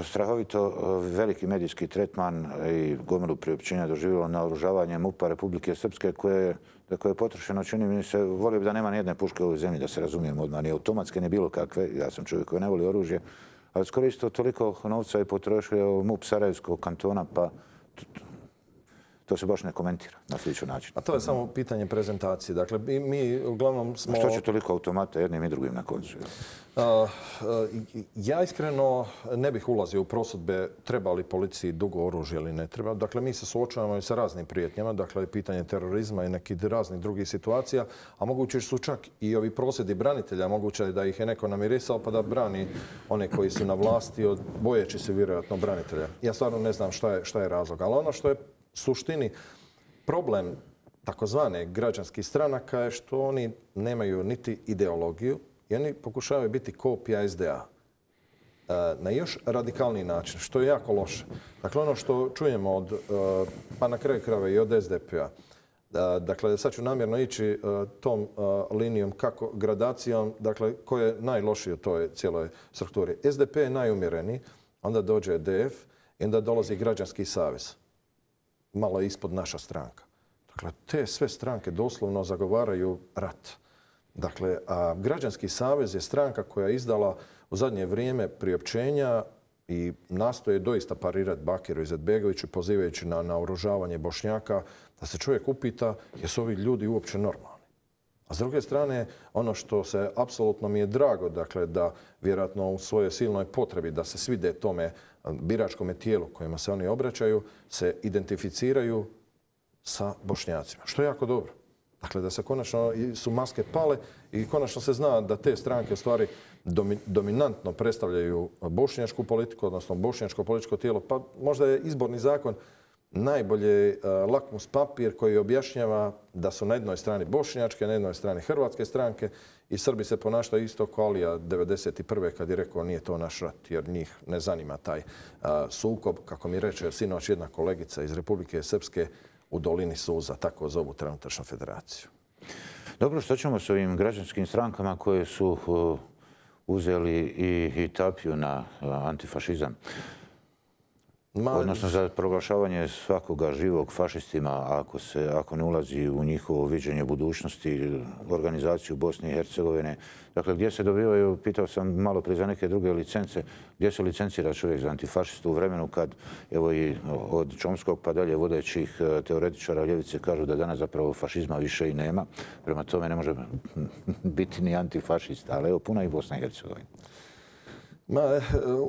strahovito veliki medijski tretman i gomilu priopćenja doživjelo naoružavanje MUP-a Republike Srpske koje je potrošeno, čini mi se, volio bi da nema nijedne puške u ovoj zemlji, da se razumijemo odmah, ni automatske, ni bilo kakve. Ja sam čovjek koji ne voli oružje, ali skoro isto toliko novca je potrošio MUP Sarajevskog kantona, pa to se baš ne komentira na sličan način. A to je samo pitanje prezentacije. Dakle, mi uglavnom smo... Što će toliko automata jednim i drugim na koncu? Ja iskreno ne bih ulazio u prosudbe treba li policiji dugo oružje ili ne treba. Dakle, mi se suočavamo i sa raznim prijetnjama, dakle, pitanje terorizma i nekih raznih drugih situacija, a moguće su čak i ovi prosvjedi branitelja, moguće je da ih je neko namirisao pa da brani one koji su na vlasti, bojeći se vjerojatno branitelja. Ja stvarno ne znam šta je razlog, ali ono što je suštini problem takozvane građanskih stranaka je što oni nemaju niti ideologiju i oni pokušavaju biti kopija SDA na još radikalniji način, što je jako loše. Dakle, ono što čujemo od, pa na kraju krajeva i od SDP-a, dakle, sad ću namjerno ići tom linijom kako gradacijom, dakle, ko je najlošiji u toj cijeloj strukturi. SDP je najumjereniji, onda dođe DF i onda dolazi Građanski savez. Malo ispod naša stranka. Dakle, te sve stranke doslovno zagovaraju rat. Dakle, a Građanski savez je stranka koja je izdala u zadnje vrijeme priopćenja i nastoje doista parirati Bakiru Izetbegoviću pozivajući na naoružavanje Bošnjaka, da se čovjek upita jesu ovi ljudi uopće normalni. A s druge strane, ono što se apsolutno mi je drago, dakle, da vjerojatno u svojoj silnoj potrebi da se svide tome biračkome tijelu kojima se oni obraćaju, se identificiraju sa Bošnjacima, što je jako dobro. Dakle, da se konačno su maske pale i konačno se zna da te stranke u stvari dominantno predstavljaju bošnjačku politiku, odnosno bošnjačko političko tijelo. Pa možda je izborni zakon najbolje lakmus papir koji objašnjava da su na jednoj strani bošnjačke, na jednoj strani hrvatske stranke i Srbi se ponašaju isto kao Alija 1991. kad je rekao nije to naš rat jer njih ne zanima taj sukob, kako mi reče sinoć jedna kolegica iz Republike Srpske u dolini Suza, tako zovu trenutačnu federaciju. Dobro, što ćemo s ovim građanskim strankama koje su uzeli i tapiju na antifašizam? Odnosno za proglašavanje svakoga živog fašistima ako ne ulazi u njihovo viđenje budućnosti, organizaciju Bosne i Hercegovine. Dakle, gdje se dobivaju, pitao sam malo prije za neke druge licence, gdje se licencira čovjek za antifašistu u vremenu kad, evo i od Čomskog pa dalje vodećih teoretičara ljevice kažu da danas zapravo fašizma više i nema. Prema tome ne može biti ni antifašista, ali evo puna i Bosna i Hercegovina.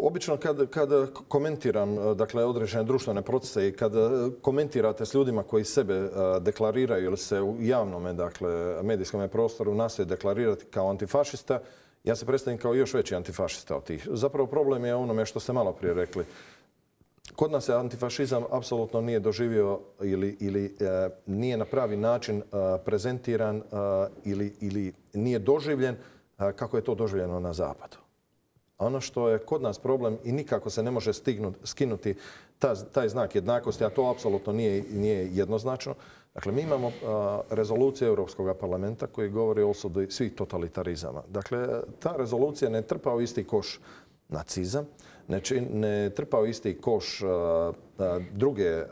Obično kad komentiram dakle, određene društvene procese i kad komentirate s ljudima koji sebe deklariraju ili se u javnom dakle, medijskom prostoru nastoje deklarirati kao antifašista, ja se predstavim kao još veći antifašista od tih. Zapravo problem je onome što ste malo prije rekli. Kod nas se antifašizam apsolutno nije doživio ili nije na pravi način prezentiran ili nije doživljen kako je to doživljeno na zapadu. Ono što je kod nas problem i nikako se ne može skinuti taj znak jednakosti, a to apsolutno nije jednoznačno. Dakle, mi imamo rezoluciju Europskog parlamenta koji govori o osudi svih totalitarizama. Dakle, ta rezolucija ne trpa u isti koš nacizam, ne trpa u isti koš druge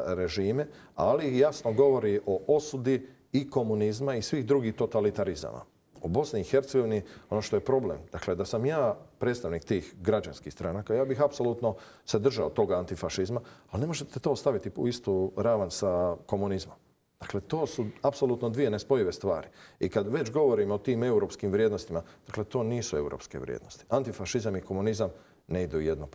režime, ali jasno govori o osudi i komunizma i svih drugih totalitarizama. U Bosni i Hercegovini ono što je problem, dakle da sam ja predstavnik tih građanskih stranaka, ja bih apsolutno se držao toga antifašizma, ali ne možete to staviti u istu ravan sa komunizmom. Dakle, to su apsolutno dvije nespojive stvari. I kad već govorimo o tim europskim vrijednostima, dakle, to nisu europske vrijednosti. Antifašizam i komunizam ne idu jedno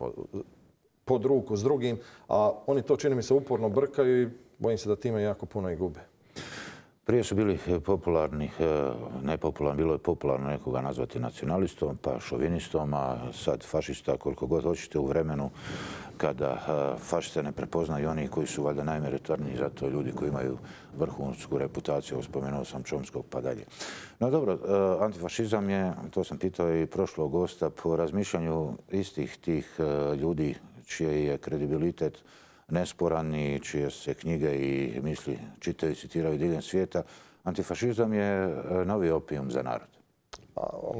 pod ruku s drugim, a oni to, čini mi se, uporno brkaju i bojim se da time jako puno i gube. Prije su bili popularni, nepopularni, bilo je popularno nekoga nazvati nacionalistom, pa šovinistom, a sad fašista koliko god hoćete u vremenu kada fašiste ne prepoznaju oni koji su valjda najmeritorniji, zato ljudi koji imaju vrhunsku reputaciju, spomenuo sam Chomskog pa dalje. No dobro, antifašizam je, to sam pitao i prošlog gosta, po razmišljanju istih tih ljudi čiji je kredibilitet nesporan i čije se knjige i misli čitaju i citiraju diljem svijeta, antifašizam je novi opijum za narod.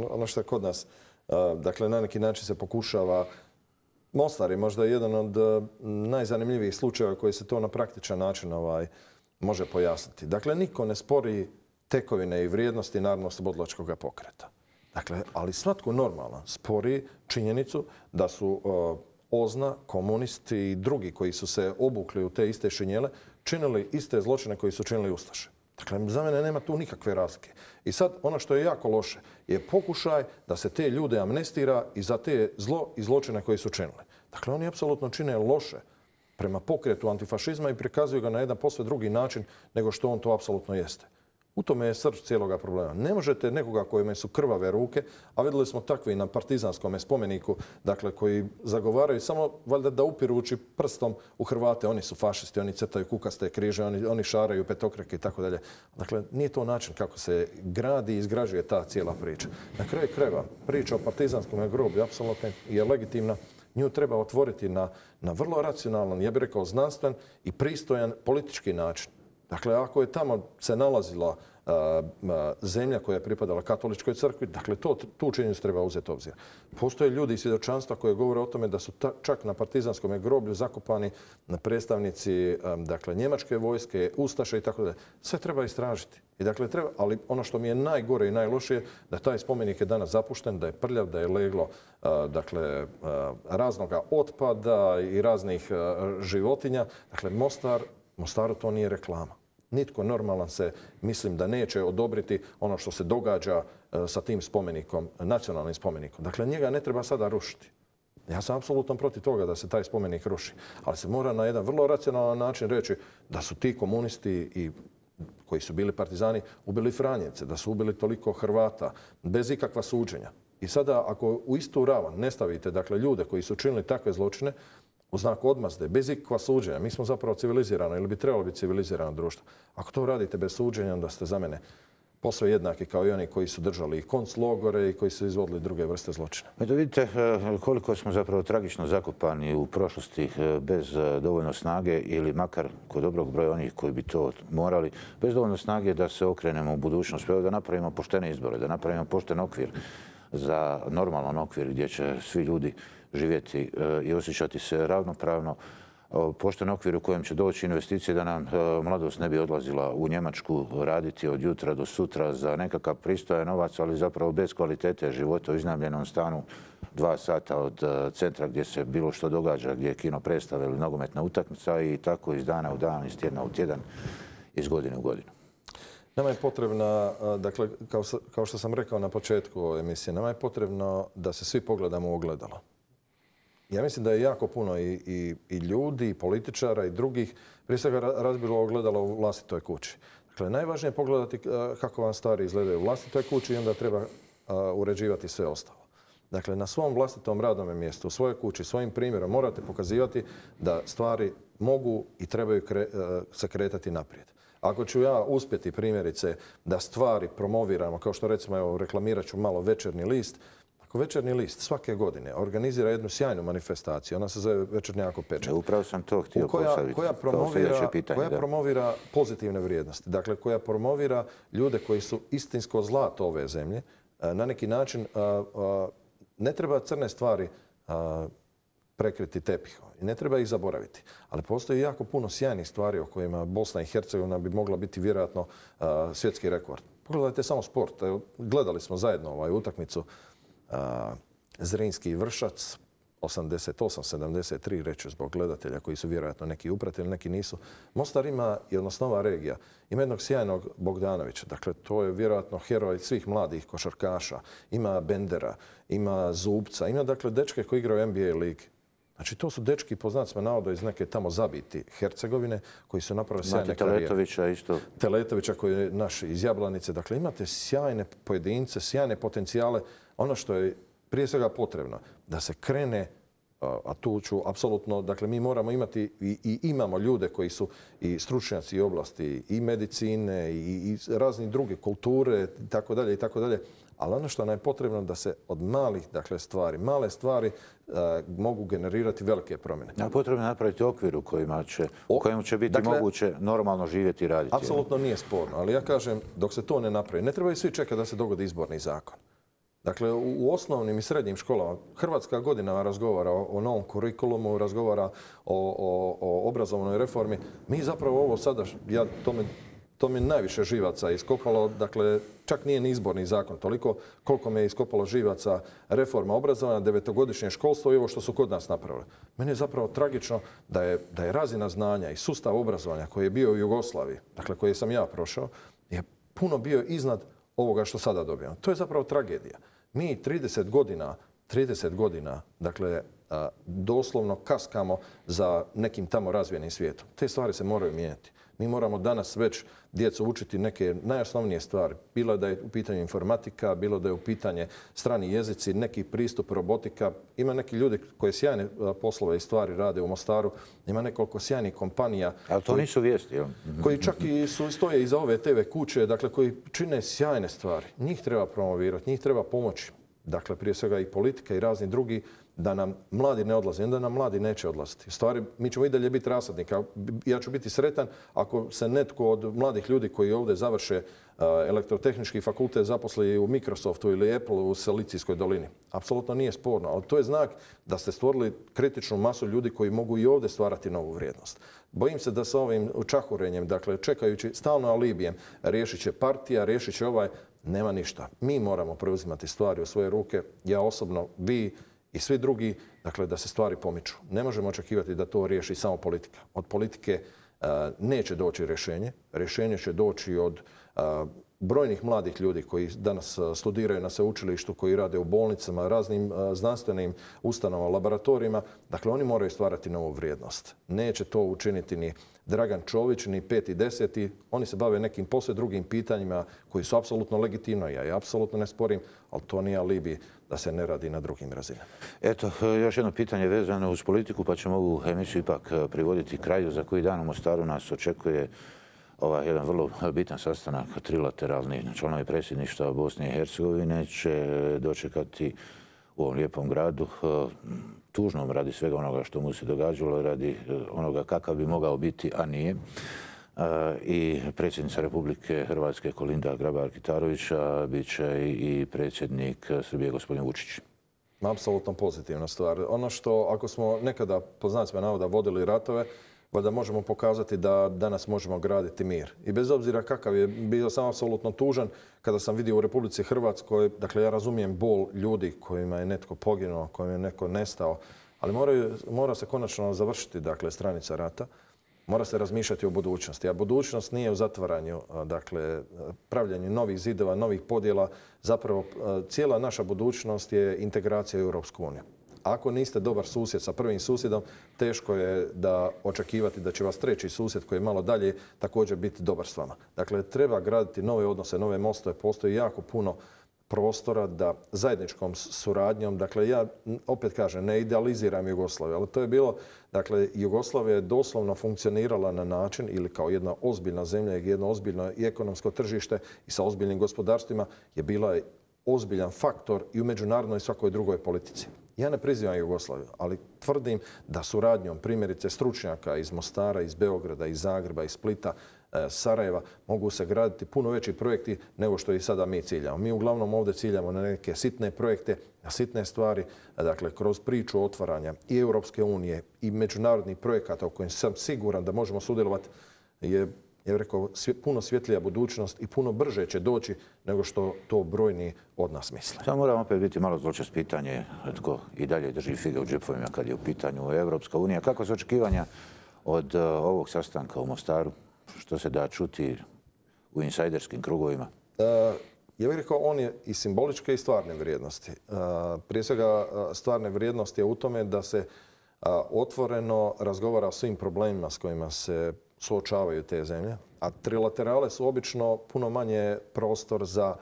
Ono što je kod nas, dakle na neki način se pokušava, Mostar je možda jedan od najzanimljivijih slučajeva koji se to na praktičan način može pojasniti. Dakle, niko ne spori tekovine i vrijednosti Narodnooslobodilačkog pokreta. Dakle, ali svatko normalan spori činjenicu da su OZNA, komunisti i drugi koji su se obukli u te iste šinjele činili iste zločine koji su činili ustaše. Dakle, za mene nema tu nikakve razlike. I sad ono što je jako loše je pokušaj da se te ljude amnestira i za te zlo i zločine koji su činili. Dakle, oni apsolutno čine loše prema pokretu antifašizma i prikazuju ga na jedan posve drugi način nego što on to apsolutno jeste. U tome je srž cijeloga problema. Ne možete nekoga kojima su krvave ruke, a vidjeli smo takvi na Partizanskom spomeniku, dakle koji zagovaraju samo valjda da upirući prstom u Hrvate, oni su fašisti, oni crtaju kukaste križe, oni šaraju petokrake i tako dalje. Dakle, nije to način kako se gradi i izgrađuje ta cijela priča. Na kraju krajeva, priča o Partizanskom groblju apsolutno je legitimna. Nju treba otvoriti na vrlo racionalan, ja bih rekao znanstven i pristojan politički način. Dakle, ako je tamo se nalazila zemlja koja je pripadala katoličkoj crkvi, dakle, tu činjenicu treba uzeti u obzir. Postoje ljudi iz svjedočanstva koje govore o tome da su čak na Partizanskom groblju zakopani predstavnici dakle, njemačke vojske, ustaše i tako dalje. Sve treba istražiti. I dakle, ali ono što mi je najgore i najlošije, da taj spomenik je danas zapušten, da je prljav, da je leglo dakle, raznoga otpada i raznih životinja. Dakle, Mostaru to nije reklama. Nitko normalan se, mislim da neće odobriti ono što se događa sa tim spomenikom, nacionalnim spomenikom. Dakle, njega ne treba sada rušiti. Ja sam apsolutno protiv toga da se taj spomenik ruši. Ali se mora na jedan vrlo racionalan način reći da su ti komunisti koji su bili partizani ubili Franjevce, da su ubili toliko Hrvata bez ikakva suđenja. I sada ako u istu ravan ne stavite dakle, ljude koji su činili takve zločine, u znaku odmazde, bez ikakva suđenja. Mi smo zapravo civilizirano ili bi trebalo biti civilizirano društvo. Ako to radite bez suđenja, onda ste za mene posve jednaki kao i oni koji su držali i konclogore i koji su izvodili druge vrste zločina. Eto vidite koliko smo zapravo tragično zakopani u prošlosti bez dovoljno snage ili makar kod dobrog broja onih koji bi to morali, bez dovoljno snage da se okrenemo u budućnost, da napravimo poštene izbore, da napravimo pošten okvir za normalan okvir gdje će svi ljudi živjeti i osjećati se ravnopravno, pošten okvir u kojem će doći investicije da nam mladost ne bi odlazila u Njemačku raditi od jutra do sutra za nekakav pristojan novac, ali zapravo bez kvalitete života u iznajmljenom stanu 2 sata od centra gdje se bilo što događa, gdje je kino predstave ili nogometna utakmica i tako iz dana u dan, iz tjedna u tjedan, iz godine u godinu. Nama je potrebna, dakle, kao što sam rekao na početku emisije, nama je potrebno da se svi pogledamo u ogledalo. Ja mislim da je jako puno i ljudi, i političara, i drugih, prije svega razbilo ogledalo u vlastitoj kući. Dakle, najvažnije je pogledati kako vam stvari izgledaju u vlastitoj kući i onda treba uređivati sve ostalo. Dakle, na svom vlastitom radnome mjestu, u svojoj kući, svojim primjerom morate pokazivati da stvari mogu i trebaju se kretati naprijed. Ako ću ja uspjeti primjerice da stvari promoviramo, kao što recimo, evo, reklamirat ću malo Večernji list, ako Večernji list svake godine organizira jednu sjajnu manifestaciju, ona se zove Večernjako pečat. Upravo sam to htio postaviti. Koja promovira pozitivne vrijednosti, dakle koja promovira ljude koji su istinsko zlato ove zemlje, na neki način ne treba crne stvari prekriti tepihom i ne treba ih zaboraviti. Ali postoji jako puno sjajnih stvari o kojima Bosna i Hercegovina bi mogla biti vjerojatno svjetski rekord. Pogledajte samo sport. Gledali smo zajedno utakmicu Zrinski i Vršac, 88-73, reću zbog gledatelja koji su vjerojatno neki upratili, neki nisu. Mostar ima, odnosno ova regija, ima jednog sjajnog Bogdanovića. Dakle, to je vjerojatno heroj svih mladih košarkaša. Ima Bendera, ima Zubca, ima dakle dečke koji igraju u NBA ligi. Znači, to su dečki, po znacima navoda, iz neke tamo zabiti Hercegovine, koji su napravili sjajne karijere. Teletovića isto. Teletovića koji je naš iz Jablanice. Dakle, imate sjajne pojedince, sjajne potencijale. Ono što je prije svega potrebno, da se krene, a tu ću apsolutno, dakle, mi moramo imati i imamo ljude koji su i stručnjaci i oblasti i medicine i razni druge kulture, i tako dalje. Ali ono što nam je potrebno da se od malih, dakle, stvari, male stvari mogu generirati velike promjene. Potrebno je napraviti okvir u kojem će biti moguće normalno živjeti i raditi. Apsolutno nije sporno, ali ja kažem, dok se to ne napravi, ne trebaju svi čekati da se dogodi izborni zakon. Dakle, u osnovnim i srednjim školama Hrvatska godinama razgovara o novom kurikulumu, razgovara o obrazovnoj reformi. Mi zapravo ovo sada, to mi najviše živaca iskopalo, dakle, čak nije ni izborni zakon toliko koliko me je iskopalo živaca reforma obrazovanja, 9-godišnje školstvo i ovo što su kod nas napravili. Meni je zapravo tragično da je razina znanja i sustav obrazovanja koji je bio u Jugoslaviji, dakle koji sam ja prošao, je puno bio iznad ovoga što sada dobijamo. To je zapravo tragedija. Mi 30 godina, dakle, doslovno kaskamo za nekim tamo razvijenim svijetom. Te stvari se moraju mijenjati. Mi moramo danas već djecu učiti neke najosnovnije stvari. Bilo da je u pitanju informatika, bilo da je u pitanju strani jezici, neki pristup robotika. Ima neki ljudi koji sjajne poslove i stvari rade u Mostaru. Ima nekoliko sjajnih kompanija. Ali to nisu vijesti, jel? Koji čak i stoje iza ove TV kuće, dakle, koji čine sjajne stvari. Njih treba promovirati, njih treba pomoći. Dakle, prije svega i politika i razni drugi, da nam mladi ne odlaze, onda nam mladi neće odlaziti. Stvari, mi ćemo i dalje biti rasadnik. Ja ću biti sretan ako se netko od mladih ljudi koji ovdje završe elektrotehnički fakultet zaposli u Microsoftu ili Apple u Silicijskoj dolini. Apsolutno nije sporno, ali to je znak da ste stvorili kritičnu masu ljudi koji mogu i ovdje stvarati novu vrijednost. Bojim se da sa ovim čahurenjem, dakle, čekajući stalno alibijem, riješit će partija, riješit će nema ništa. Mi moramo preuzimati stvari u svoje ruke. Ja osobno, vi i svi drugi, dakle, da se stvari pomiču. Ne možemo očekivati da to riješi samo politika. Od politike neće doći rješenje. Rješenje će doći od brojnih mladih ljudi koji danas studiraju na sveučilištu, koji rade u bolnicama, raznim znanstvenim ustanovama, laboratorijima. Dakle, oni moraju stvarati novu vrijednost. Neće to učiniti ni Dragan Čović, ni 5. i 10. Oni se bave nekim posve drugim pitanjima koji su apsolutno legitimno. Ja apsolutno ne sporim, ali to nije alibi da se ne radi na drugim razinama. Eto, još jedno pitanje vezano uz politiku, pa ćemo ovu emisiju ipak privoditi kraju. Za koji dan u Mostaru nas očekuje jedan vrlo bitan sastanak, trilateralni. Članovi predsjedništva Bosne i Hercegovine će dočekati u ovom lijepom gradu, tužnom radi svega onoga što mu se događalo, radi onoga kakav bi mogao biti, a nije. I predsjednica Republike Hrvatske Kolinda Grabar-Kitarović, bit će i predsjednik Srbije gospodin Vučić. Apsolutno pozitivna stvar. Ono što, ako smo nekada, po znacima navoda, vodili ratove, valjda možemo pokazati da danas možemo graditi mir. I bez obzira kakav je, bio sam apsolutno tužan kada sam vidio u Republici Hrvatskoj, dakle, ja razumijem bol ljudi kojima je netko poginuo, kojima je netko nestao, ali mora se konačno završiti, dakle, stranica rata. Mora se razmišljati o budućnosti, a budućnost nije u zatvaranju, dakle, pravljanju novih zidova, novih podjela. Zapravo, cijela naša budućnost je integracija u Europsku uniju. Ako niste dobar susjed sa prvim susjedom, teško je da očekivati da će vas treći susjed koji je malo dalje također biti dobar s vama. Dakle, treba graditi nove odnose, nove mostove. Postoji jako puno prostora da zajedničkom suradnjom, dakle ja opet kažem, ne idealiziram Jugoslaviju, ali to je bilo, dakle Jugoslavija je doslovno funkcionirala na način ili kao jedna ozbiljna zemlja i jedno ozbiljno i ekonomsko tržište i sa ozbiljnim gospodarstvima je bila ozbiljan faktor i u međunarodnoj i svakoj drugoj politici. Ja ne prizivam Jugoslaviju, ali tvrdim da suradnjom primjerice stručnjaka iz Mostara, iz Beograda, iz Zagreba, iz Splita, Sarajeva mogu se graditi puno veći projekti nego što i sada mi ciljamo. Mi uglavnom ovdje ciljamo na neke sitne projekte, na sitne stvari, dakle kroz priču otvaranja i Europske unije i međunarodnih projekata u kojim sam siguran da možemo sudjelovati je, ja bih rekao, puno svjetlija budućnost i puno brže će doći nego što to brojni od nas misle. Samo moram opet biti malo zločest pitanje tko i dalje drži fige u džepovima kad je u pitanju Europska unija. Kako su očekivanja od ovog sastanka u Mostaru? Što se da čuti u insajderskim krugovima? Ja bih rekao, on je i simboličke i stvarne vrijednosti. Prije svega, stvarne vrijednosti je u tome da se otvoreno razgovara o svim problemima s kojima se suočavaju te zemlje, a trilaterale su obično puno manje prostor za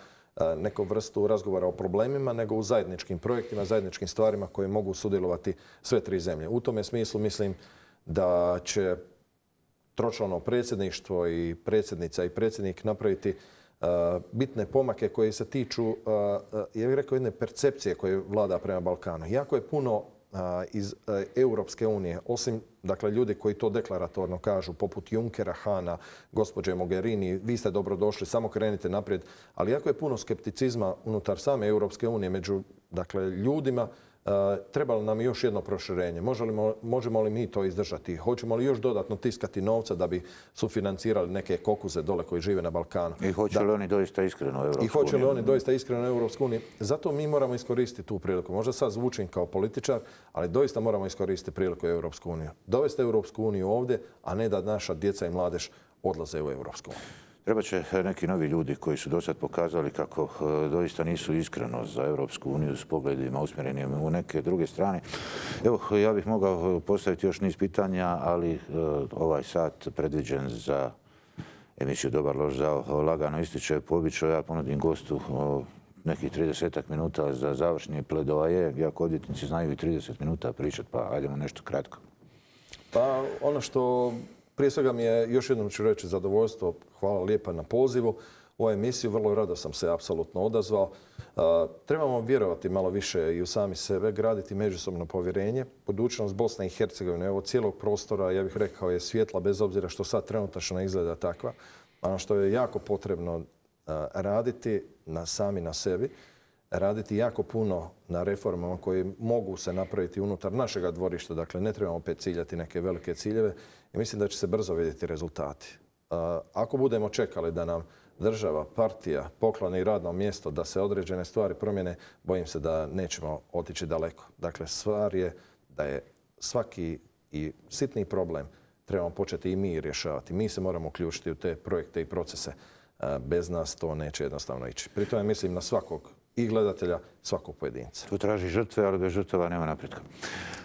neku vrstu razgovora o problemima nego u zajedničkim projektima, zajedničkim stvarima koje mogu sudjelovati sve tri zemlje. U tome smislu mislim da će tročlano predsjedništvo i predsjednica i predsjednik napraviti bitne pomake koje se tiču, ja bih rekao, jedne percepcije koje vlada prema Balkanu. Jako je puno iz Europske unije, osim dakle, ljudi koji to deklaratorno kažu, poput Junckera, Hana, gospođe Mogherini, vi ste dobrodošli, samo krenite naprijed. Ali jako je puno skepticizma unutar same Europske unije među dakle, ljudima. Treba li nam još jedno proširenje? Možemo li mi to izdržati? Hoćemo li još dodatno tiskati novca da bi sufinancirali neke kokuze dole koji žive na Balkanu? I hoće li oni doista iskreno u Europsku uniju? I hoće li oni doista iskreno u Europsku uniju? Zato mi moramo iskoristiti tu priliku. Možda sad zvučim kao političar, ali doista moramo iskoristiti priliku u Europsku uniju. Dovesti Europsku uniju ovdje, a ne da naša djeca i mladež odlaze u Europsku uniju. Treba će neki novi ljudi koji su do sad pokazali kako doista nisu iskreno za Europsku uniju s pogledima usmjerenim u neke druge strane. Evo, ja bih mogao postaviti još niz pitanja, ali ovaj sat predviđen za emisiju Dobar loš zao lagano ističe. Po običaju ja ponudim gostu nekih 30 minuta za završni pledoaje, iako odvjetnici znaju i 30 minuta pričati, pa ajdemo nešto kratko. Pa ono što prije svega mi je, još jednom ću reći, zadovoljstvo. Hvala lijepa na pozivu u ovu emisiju. Vrlo rado sam se apsolutno odazvao. Trebamo vjerovati malo više i u sami sebe, graditi međusobno povjerenje. Budućnost Bosne i Hercegovine, evo cijelog prostora, ja bih rekao, je svjetla bez obzira što sad trenutačno izgleda takva. Ono što je jako potrebno raditi sami na sebi, raditi jako puno na reformama koje mogu se napraviti unutar našega dvorišta. Dakle, ne trebamo opet ciljati neke velike ciljeve i mislim da će se brzo vidjeti rezultati. Ako budemo čekali da nam država, partija pokloni radno mjesto da se određene stvari promijene, bojim se da nećemo otići daleko. Dakle, stvar je da je svaki i sitni problem trebamo početi i mi rješavati. Mi se moramo uključiti u te projekte i procese. Bez nas to neće jednostavno ići. Pri tome mislim na svakog i gledatelja, svakog pojedinca. Tu traži žrtve, ali bez žrtava nema napretka.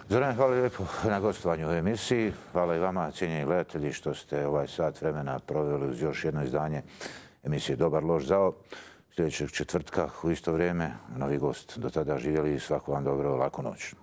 Zoran, hvala lijepo na gostovanju u emisiji. Hvala i vama, cijenjeni gledatelji, što ste ovaj sat vremena proveli uz još jedno izdanje emisije Dobar loš zao. Sljedećeg četvrtka u isto vrijeme novi gost. Do tada živjeli, svako vam dobro, laku noć.